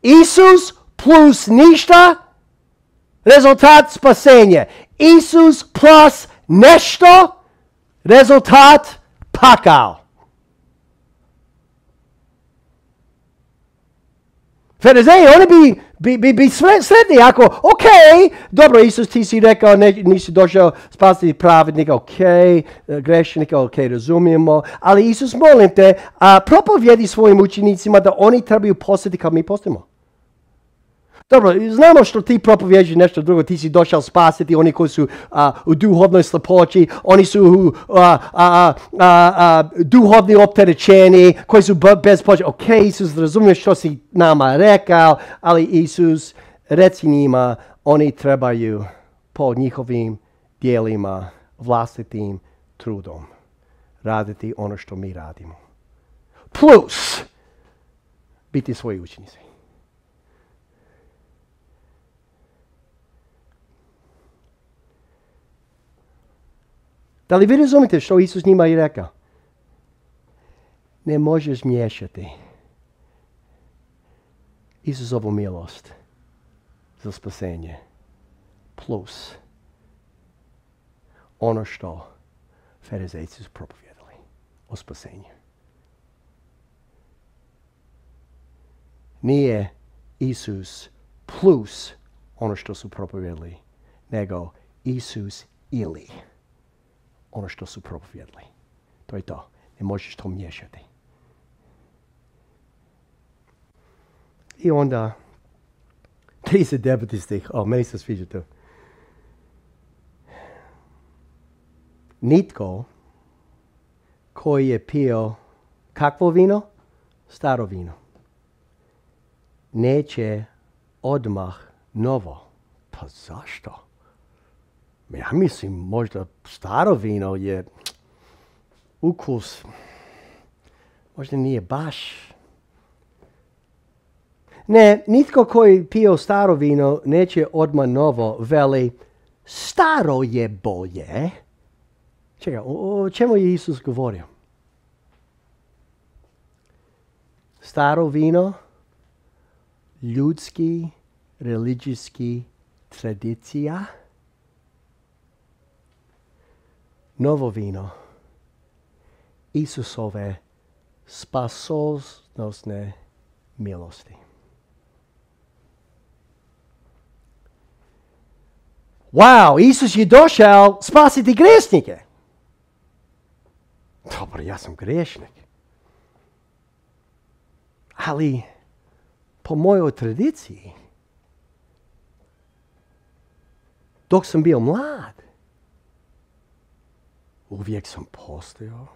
A: Isus plus ništa, rezultat spasenje. Isus plus nešto, rezultat pakao. Farizeji, oni bi sretni ako, ok, dobro, Isus, ti si rekao, nisi došao spasiti pravednika, ok, grešnika, ok, razumijemo, ali Isus, molim te, propovjedi svojim učenicima da oni trebaju postati kao mi postajemo. Dobro, znamo što ti propovjeđaš nešto drugo, ti si došao spasiti oni koji su u duhovnoj slepoći, oni su duhovni opterećeni, koji su bez početi. Ok, Isus, razumiješ što si nama rekao, ali Isus, reci njima, oni trebaju po njihovim dijelima, vlastitim trudom raditi ono što mi radimo. Plus, biti svoji učenici. Da li vi razumite što Isus njima je rekao? Ne možeš miješati Isusovu milost za spasenje plus ono što farizejci su propovjedali o spasenju. Nije Isus plus ono što su propovjedali, nego Isus ili ono što su propovjedali. To je to. Ne možeš to miješati. I onda 39. stih. Meni se sviđa to. Nitko koji je pio kakvo vino? Staro vino. Neće odmah novo. Pa zašto? Ja mislim, možda staro vino je ukus, možda nije baš. Ne, nitko koji pio staro vino neće odmah novo, veli staro je bolje. Čekaj, o čemu je Isus govorio? Staro vino, ljudski, religijski tradicija. Novo vino, Isusove spasonosne milosti. Wow, Isus je došao spasiti grešnike. Dobro, ja sam grešnik. Ali, po mojoj tradiciji, dok sam bio mlad, uvijek sam postojao,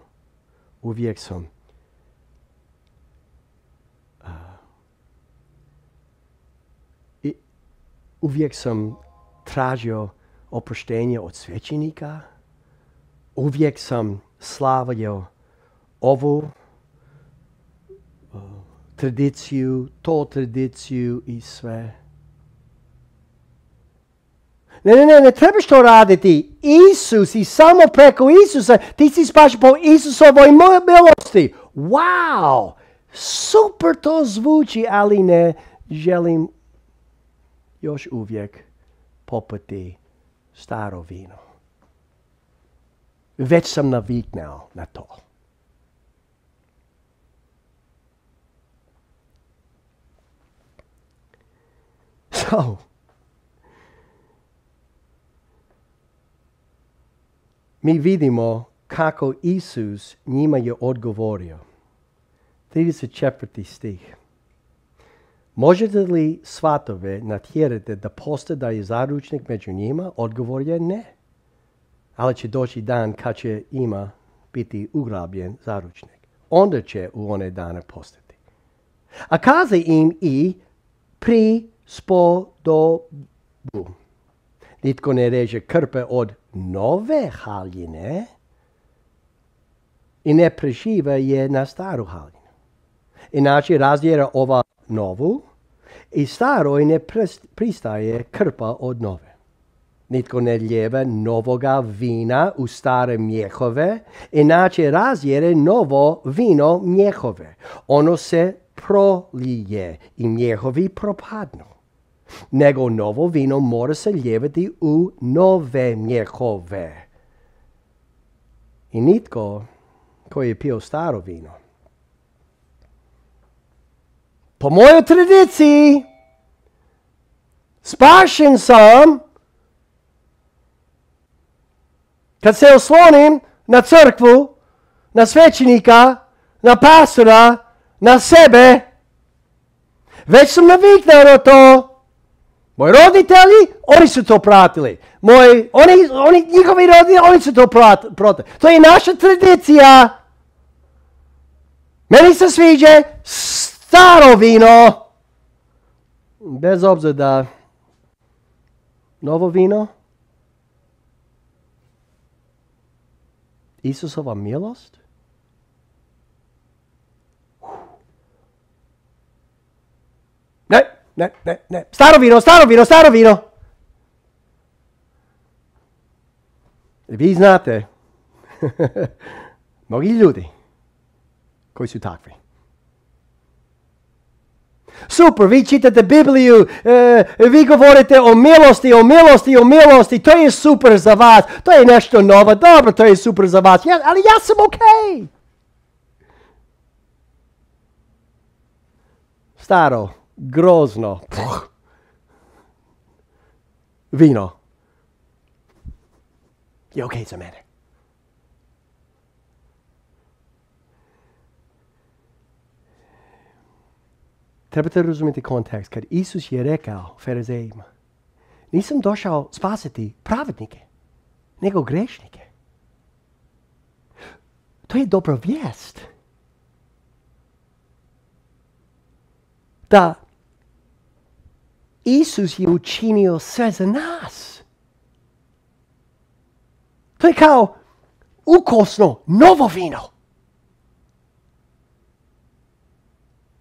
A: uvijek sam tražio oproštenje od svećenika, uvijek sam slavio ovu tradiciju, to tradiciju i sve. Ne trebaš to raditi. Isus i samo preko Isusa ti si spašen po Isusovoj milosti. Wow! Super to zvuči, ali ne želim još uvijek popiti staro vino. Već sam naviknuo na to. So, mi vidimo kako Isus njima je odgovorio. 34. stih. Možete li svatove natjerati da postade zaručnik među njima? Odgovor je ne. Ali će doći dan kad će ima biti ugrabljen zaručnik. Onda će u one dane postati. A kaze im i prispodobu. Nitko ne reže krpe od nove haljine i ne prešiva je na staru haljinu. Inače razjera ova novu i staroj ne pristaje krpa od nove. Nitko ne lijeva novoga vina u stare mjehove, inače razjere novo vino mjehove. Ono se prolije i njihovi propadnu. Nego novo vino mora se lijevati u nove mjehove. I nitko koji je pio staro vino, po mojoj tradiciji, spašen sam kad se oslonim na crkvu, na svećenika, na pastora, na sebe. Već sam naviknuo na to. Moji roditelji, oni su to pratili. Njihovi roditelji, oni su to pratili. To je naša tradicija. Meni se sviđa staro vino. Bez obzira da novo vino, Isusova milost, Ne. Staro vino. Vi znate, mnogi ljudi koji su takvi. Super, vi čitate Bibliju, vi govorite o milosti, to je super za vas, to je nešto novo, dobro, to je super za vas, ali ja sam okej. Staro, grozno vino je okej za mene. Trebate razumjeti kontekst. Kad Isus je rekao farizejima, nisam došao spasiti pravednike, nego grešnike. To je dobra vijest. Da Isus je učinio sve za nas. To je kao ukosno novo vino.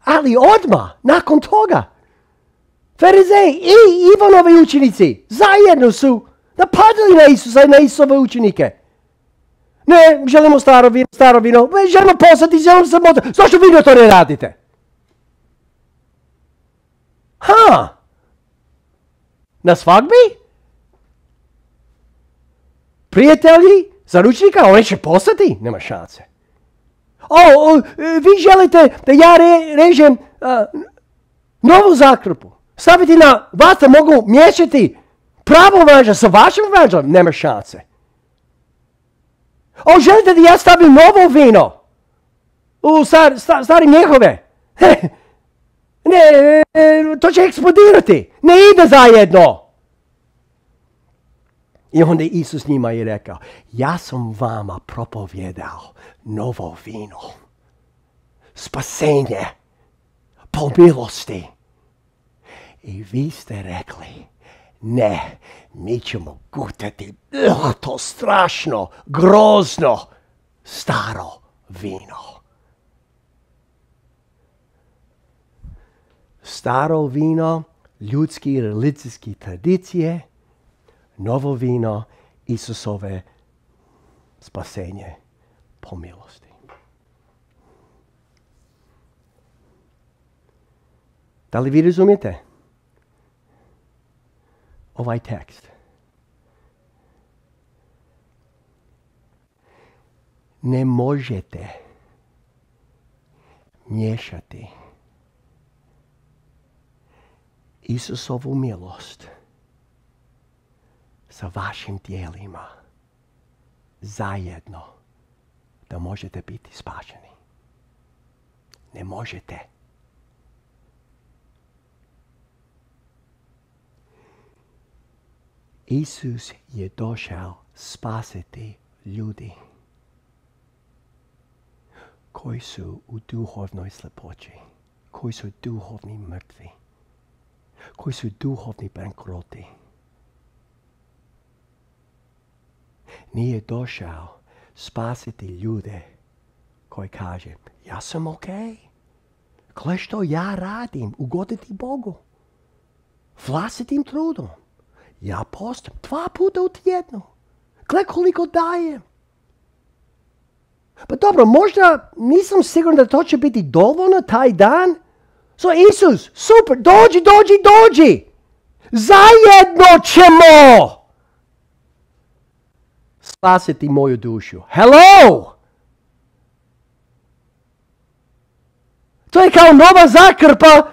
A: Ali odmah, nakon toga, farizeji i Ivanovi učenici zajedno su napadali na Isusa i na Isusove učenike. Ne, želimo staro vino, želimo postati, želimo samota. Zašto vi to ne radite? Na svadbi? Prijatelji, zaručnika, oni će postati? Nema šanse. Vi želite da ja režem novu zakrpu. Staviti na vatra, mogu miješati pravo evanđelje sa vašim evanđeljem? Nema šanse. Želite da ja stavim novo vino u stari mjehove? Ne, to će eksplodirati. Ne ide zajedno. I onda Isus njima je rekao, ja sam vama propovjedao novo vino. Spasenje po milosti. I vi ste rekli, ne, mi ćemo gutati to strašno, grozno, staro vino. Staro vino, ljudski religijski tradicije, novo vino, Isusove spasenje po milosti. Da li vi razumijete ovaj tekst? Ne možete miješati Isusovu milost sa vašim tijelima zajedno da možete biti spašeni. Ne možete. Isus je došao spasiti ljudi koji su u duhovnoj slepoći, koji su duhovni mrtvi, koji su duhovni bankroti. Nije došao spasiti ljude koji kaže, ja sam okej. Gle što ja radim, ugoditi Bogu. Vlastitim trudom. Ja postim 2 puta u tjednu. Gle koliko dajem. Pa dobro, možda nisam siguran da to će biti dovoljno taj dan, So Isus, super, dođi. Zajedno ćemo spasiti moju dušu. Hello! To je kao nova zakrpa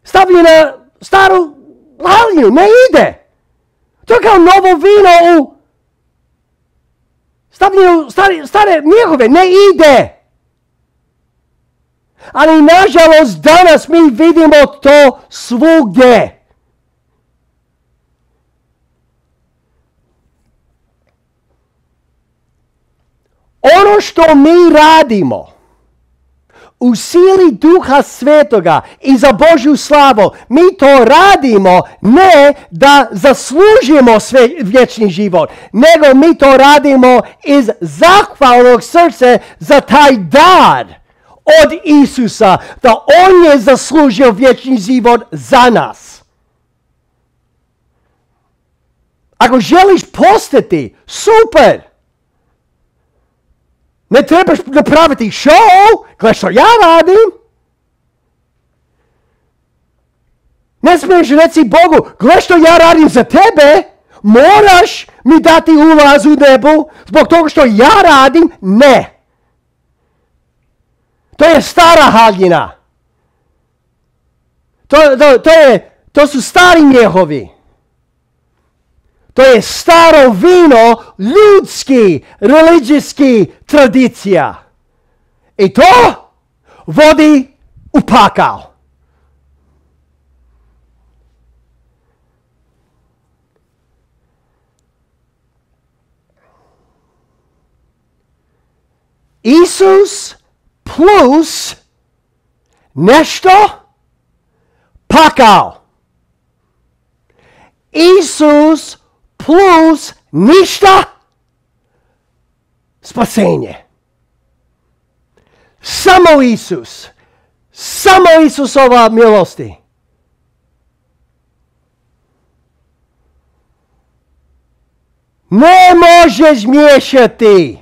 A: stavljena staru haljinu. Ne ide. To je kao novo vino u stavljeno stare mjehove. Ne ide. Ali nažalost danas mi vidimo to svugdje. Ono što mi radimo u sili Duha Svetoga i za Božju slavu, mi to radimo ne da zaslužimo vječni život, nego mi to radimo iz zahvalnog srca za taj dar od Isusa, da On je zaslužio vječni život za nas. Ako želiš postati, super! Ne trebaš napraviti show, gledaj što ja radim. Ne smiješ reći Bogu, gledaj što ja radim za tebe, moraš mi dati ulaz u nebu zbog toga što ja radim. Ne. To je stara haljina. To su stari mjehovi. To je staro vino ljudski, religijski tradicija. I to vodi u pakao. Isus plus nešto pakao. Isus plus ništa spasenje. Samo Isus. Samo Isusova milosti. Ne možeš miješati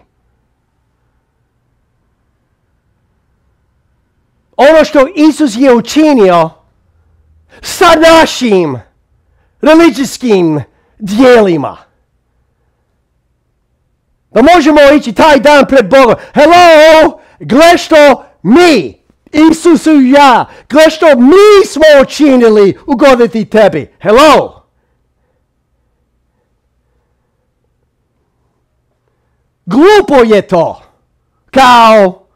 A: ono što Isus je učinio sa našim religijskim dijelima. Da možemo ići taj dan pred Bogom. Hello, gle što mi, Isus i ja, gle što mi smo učinili ugoditi tebi. Hello. Glupo je to. Kao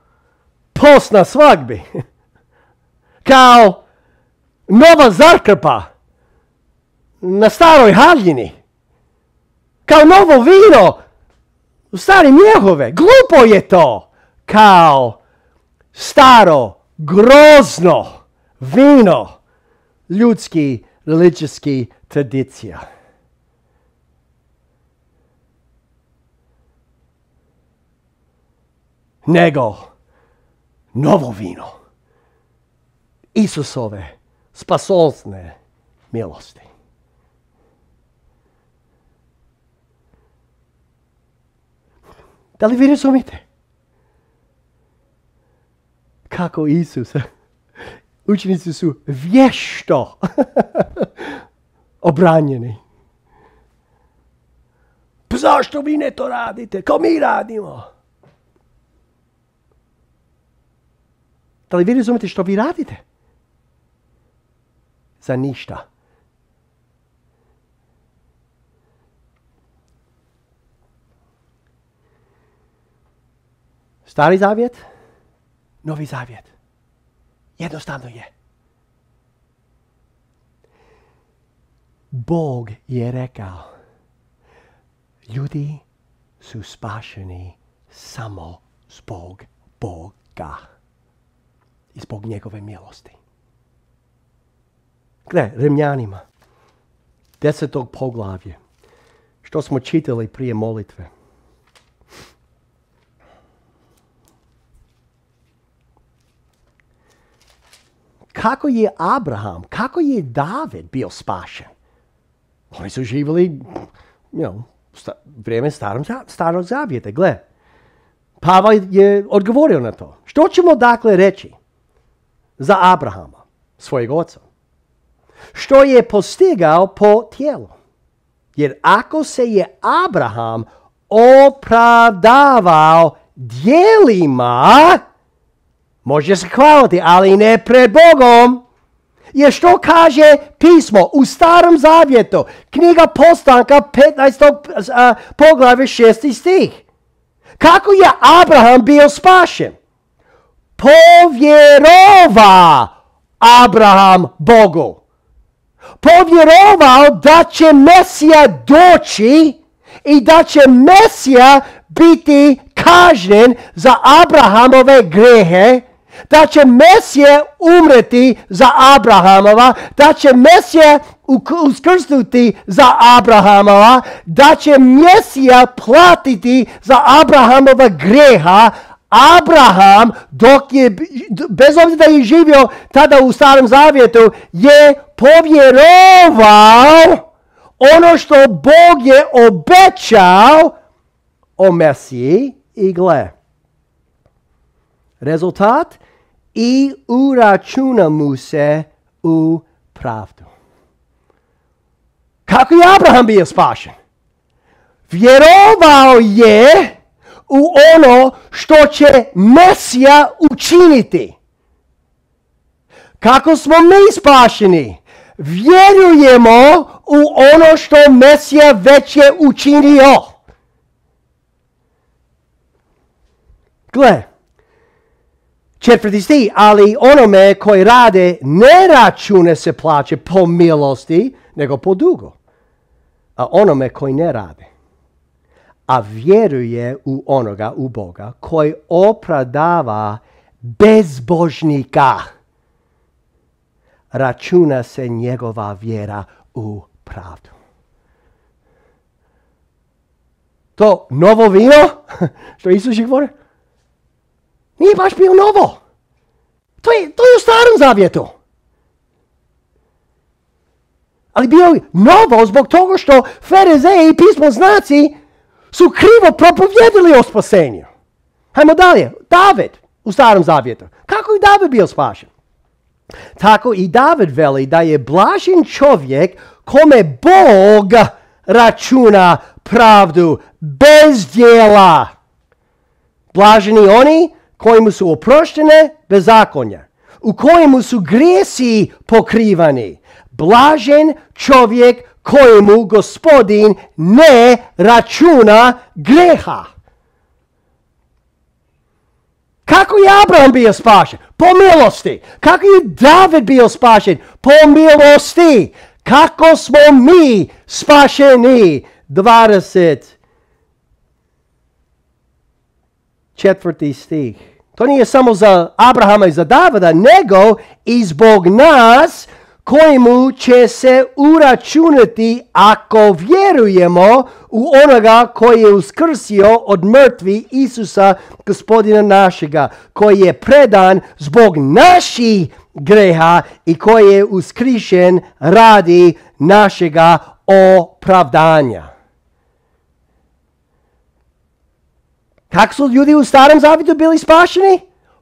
A: post na svadbi. Kao nova zakrpa na staroj haljini. Kao novo vino u stari mjehove. Glupo je to. Kao staro, grozno vino ljudski, religijski tradicija. Nego novo vino Isusove spasonosne milosti. Da li vi razumite? Kako Isus, učenici su vješto obranjeni. Pa zašto vi ne to radite? Kao mi radimo. Da li vi razumite što vi radite? Za ništa. Stari zavjet, novi zavjet. Jednostavno je. Bog je rekao, ljudi su spašeni samo zbog Boga i zbog njegove milosti. Gle, Rimljanima, 10. poglavlje, što smo čitali prije molitve. Kako je Abraham, kako je David bio spašen? Oni su živjeli, vrijeme starog zavjeta. Gle, Pavel je odgovorio na to. Što ćemo dakle reći? za Abrahama, svojeg oca, što je postigao po tijelu. Jer ako se je Abraham opravdavao djelima, može se hvaliti, ali ne pred Bogom. Jer što kaže pismo u Starom Zavjetu, knjiga Postanka 15. poglavlje 6. stih. Kako je Abraham bio spašen? Povjerova Abraham Bogu. Povjerovao da će Mesija doći i da će Mesija biti kažnjen za Abrahamove grehe, da će Mesija umreti za Abrahamova, da će Mesija uskrsnuti za Abrahamova, da će Mesija platiti za Abrahamova greha. Abraham, bez obzira da je živio tada u Starom Zavjetu, je povjerovao ono što Bog je obećao o Mesiji i gle. Rezultat? I uračuna mu se u pravdu. Kako je Abraham bio spašen? Vjerovao je u ono što će Mesija učiniti. Kako smo mi spašeni? Vjerujemo u ono što Mesija već je učinio. Gle, 4. stih, ali onome koji rade ne račune se plaće po milosti, nego po dugu. A onome koji ne rade, a vjeruje u onoga, u Boga, koji opravdava bezbožnika, računa se njegova vjera u pravdu. To novo vino, što Isus je govorio, nije baš bilo novo. To je u Starom Zavjetu. Ali bio je novo zbog toga što Farizeji i pismoznaci su krivo propovjedili o spasenju. Hajmo dalje. David u Starom Zavjetu. Kako je David bio spašen? Tako i David veli da je blažen čovjek kome Bog računa pravdu bez djela. Blaženi oni kojemu su oproštene bezakonja, u kojemu su grijesi pokrivani. Blažen čovjek kojemu Gospodin ne računa greha. Kako je Abraham bio spašen? Po milosti. Kako je David bio spašen? Po milosti. Kako smo mi spašeni? 24. stih. To nije samo za Abrahama i za Davida, nego i zbog nas kojemu će se uračunati ako vjerujemo u onoga koji je uskrsio od mrtvi Isusa, Gospodina našega, koji je predan zbog naših greha i koji je uskrišen radi našega opravdanja. Kako su ljudi u Starom Zavjetu bili spašeni?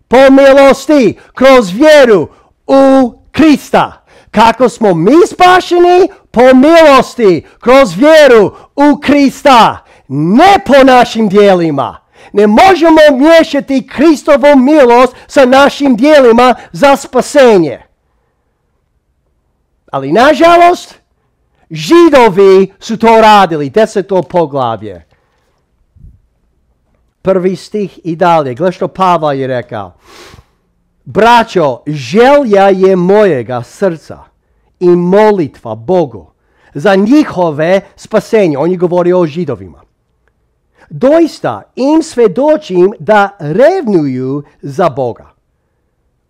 A: Po milosti, kroz vjeru u Krista. Kako smo mi spašeni? Po milosti, kroz vjeru u Krista. Ne po našim djelima. Ne možemo miješati Kristovu milost sa našim djelima za spasenje. Ali nažalost, Židovi su to radili. 10. poglavlje. 1. stih i dalje. Gle što Pavao je rekao. Braćo, želja je mojega srca i molitva Bogu za njihove spasenje. On je govorio o Židovima. Doista im svjedočim da revnuju za Boga,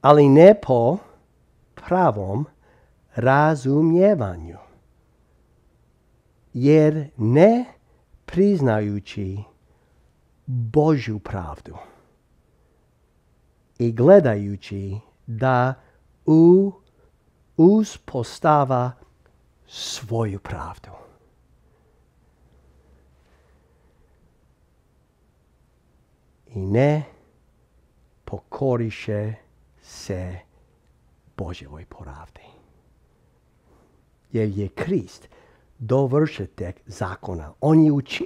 A: ali ne po pravom razumijevanju. Jer ne priznajući Božju pravdu i gledajući da uspostava svoju pravdu. I ne pokoriše se Božjevoj pravdi. Jer je Krist dovršitelj zakona.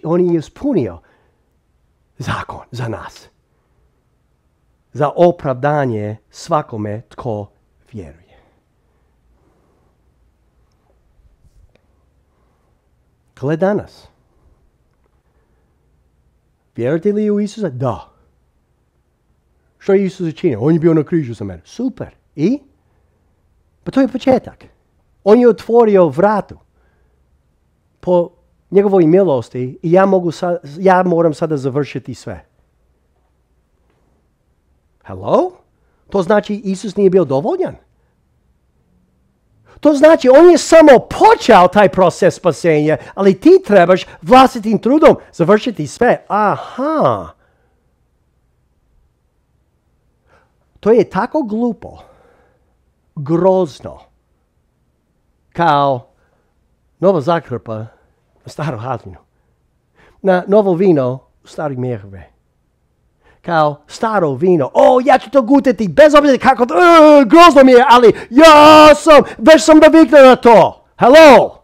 A: On je ispunio zakon za nas. Za opravdanje svakome tko vjeruje. Gle danas. Vjerujete li u Isusa? Da. Što je Isus učinio? On je bio na križu za mene. Super. I? Pa to je početak. On je otvorio vratu. Po njegovoj milosti i ja moram sada završiti sve. Hello? To znači Isus nije bio dovoljan? To znači on je samo počeo taj proces spasenja, ali ti trebaš vlastitim trudom završiti sve. Aha. To je tako glupo, grozno, kao nova zakrpa na staru haljinu, na novo vino u stari mjehove. Kao staro vino. Ja ću to gutati bez obzira kako grozno mi je, ali već sam naviknuo na to. Hello?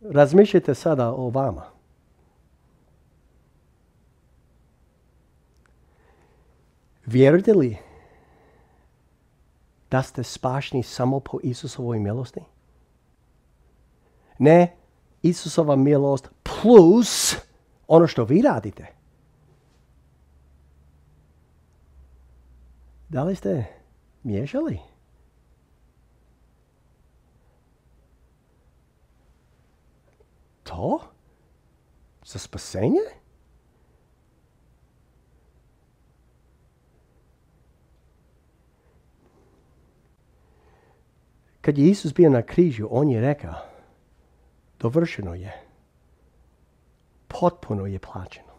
A: Razmišljajte sada o vama. Vjerujete li da ste spašeni samo po Isusovoj milosti? Ne, Isusova milost plus ono što vi radite. Da li ste miješali? To? Za spasenje? Kad je Isus bio na križu, on je rekao, dovršeno je. Potpuno je plaćeno.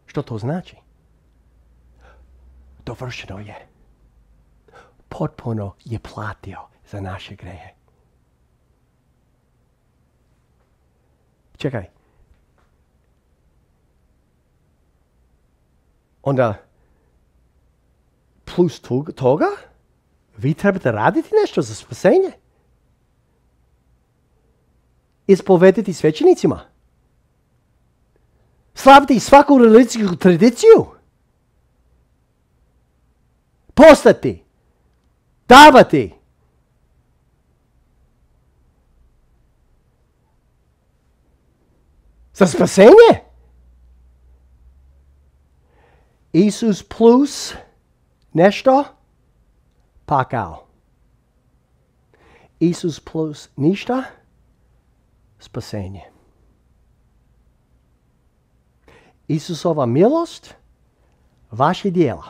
A: Što to znači? Dovršeno je. Potpuno je platio za naše grehe. Čekaj. Onda, plus toga, vi trebate raditi nešto za spasenje. Ispovediti svećenicima. Slaviti svaku religijsku tradiciju. Postati. Davati. Za spasenje? Isus plus nešto? Pakao. Isus plus ništa? Spasenje. Isusova milost? Vaše djela.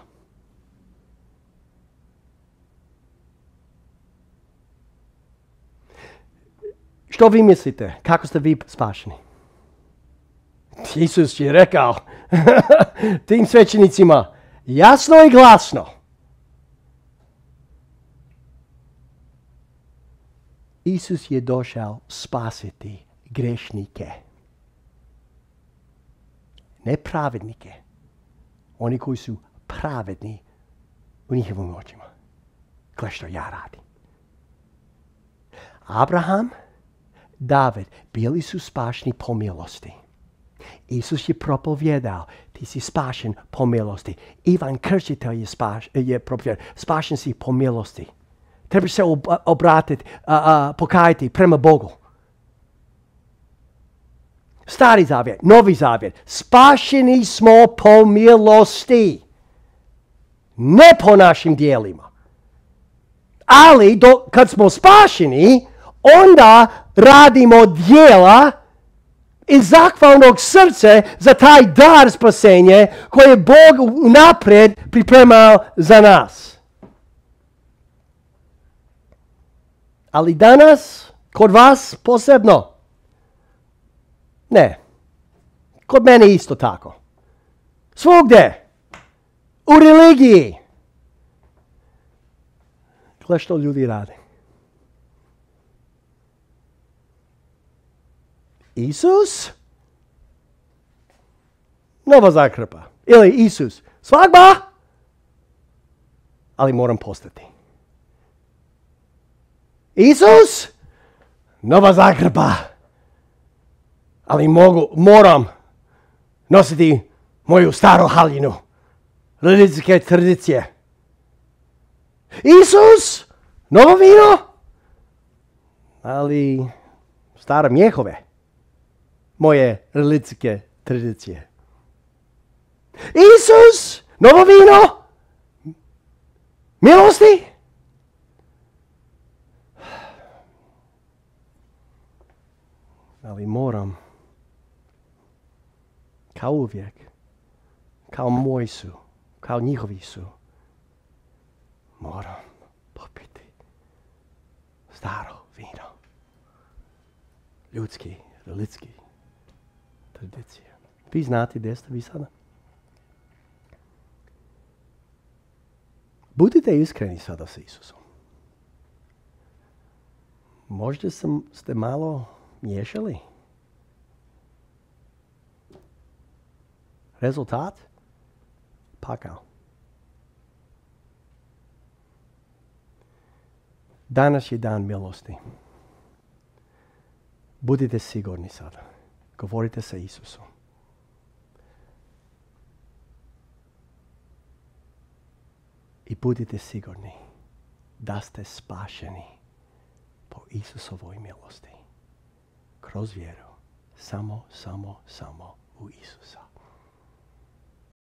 A: Što vi mislite? Kako ste vi spašeni? Isus je rekao tim svećenicima jasno i glasno. Isus je došao spasiti grešnike. Ne pravednike. Oni koji su pravedni u njihovim očima. Gle što ja radim. Abraham, David bili su spašeni po milosti. Isus je propovjedao, ti si spašen po milosti. Ivan Krstitelj je propovjedao, spašen si po milosti. Trebaš se obratiti, pokajati prema Bogu. Stari zavjet, novi zavjet. Spašeni smo po milosti. Ne po našim dijelima. Ali kad smo spašeni, onda radimo dijela iz zahvalnog srca za taj dar spasenje koje je Bog naprijed pripremao za nas. Ali danas, kod vas posebno, ne. Kod mene isto tako. Svugdje. U religiji. Gle što ljudi rade. Isus? Nova zakrpa. Ili Isus? Svadba? Ali moram postati. Isus? Nova zakrpa. Ali moram nositi moju staru haljinu. Religijske tradicije. Isus? Novo vino? Ali stare mjehove. Moje religijske tradicije. Isus? Novo vino? Milosti? Ali moram, kao uvijek, kao moji su, kao njihovi su, moram popiti staro vino. Ljudski, religijski tradicije. Vi znate gdje ste vi sada? Budite iskreni sada sa Isusom. Možda ste malo miješali? Rezultat? Pakao. Danas je dan milosti. Budite sigurni sada. Govorite sa Isusom. I budite sigurni da ste spašeni po Isusovoj milosti. Kroz vjeru. Samo u Isusa.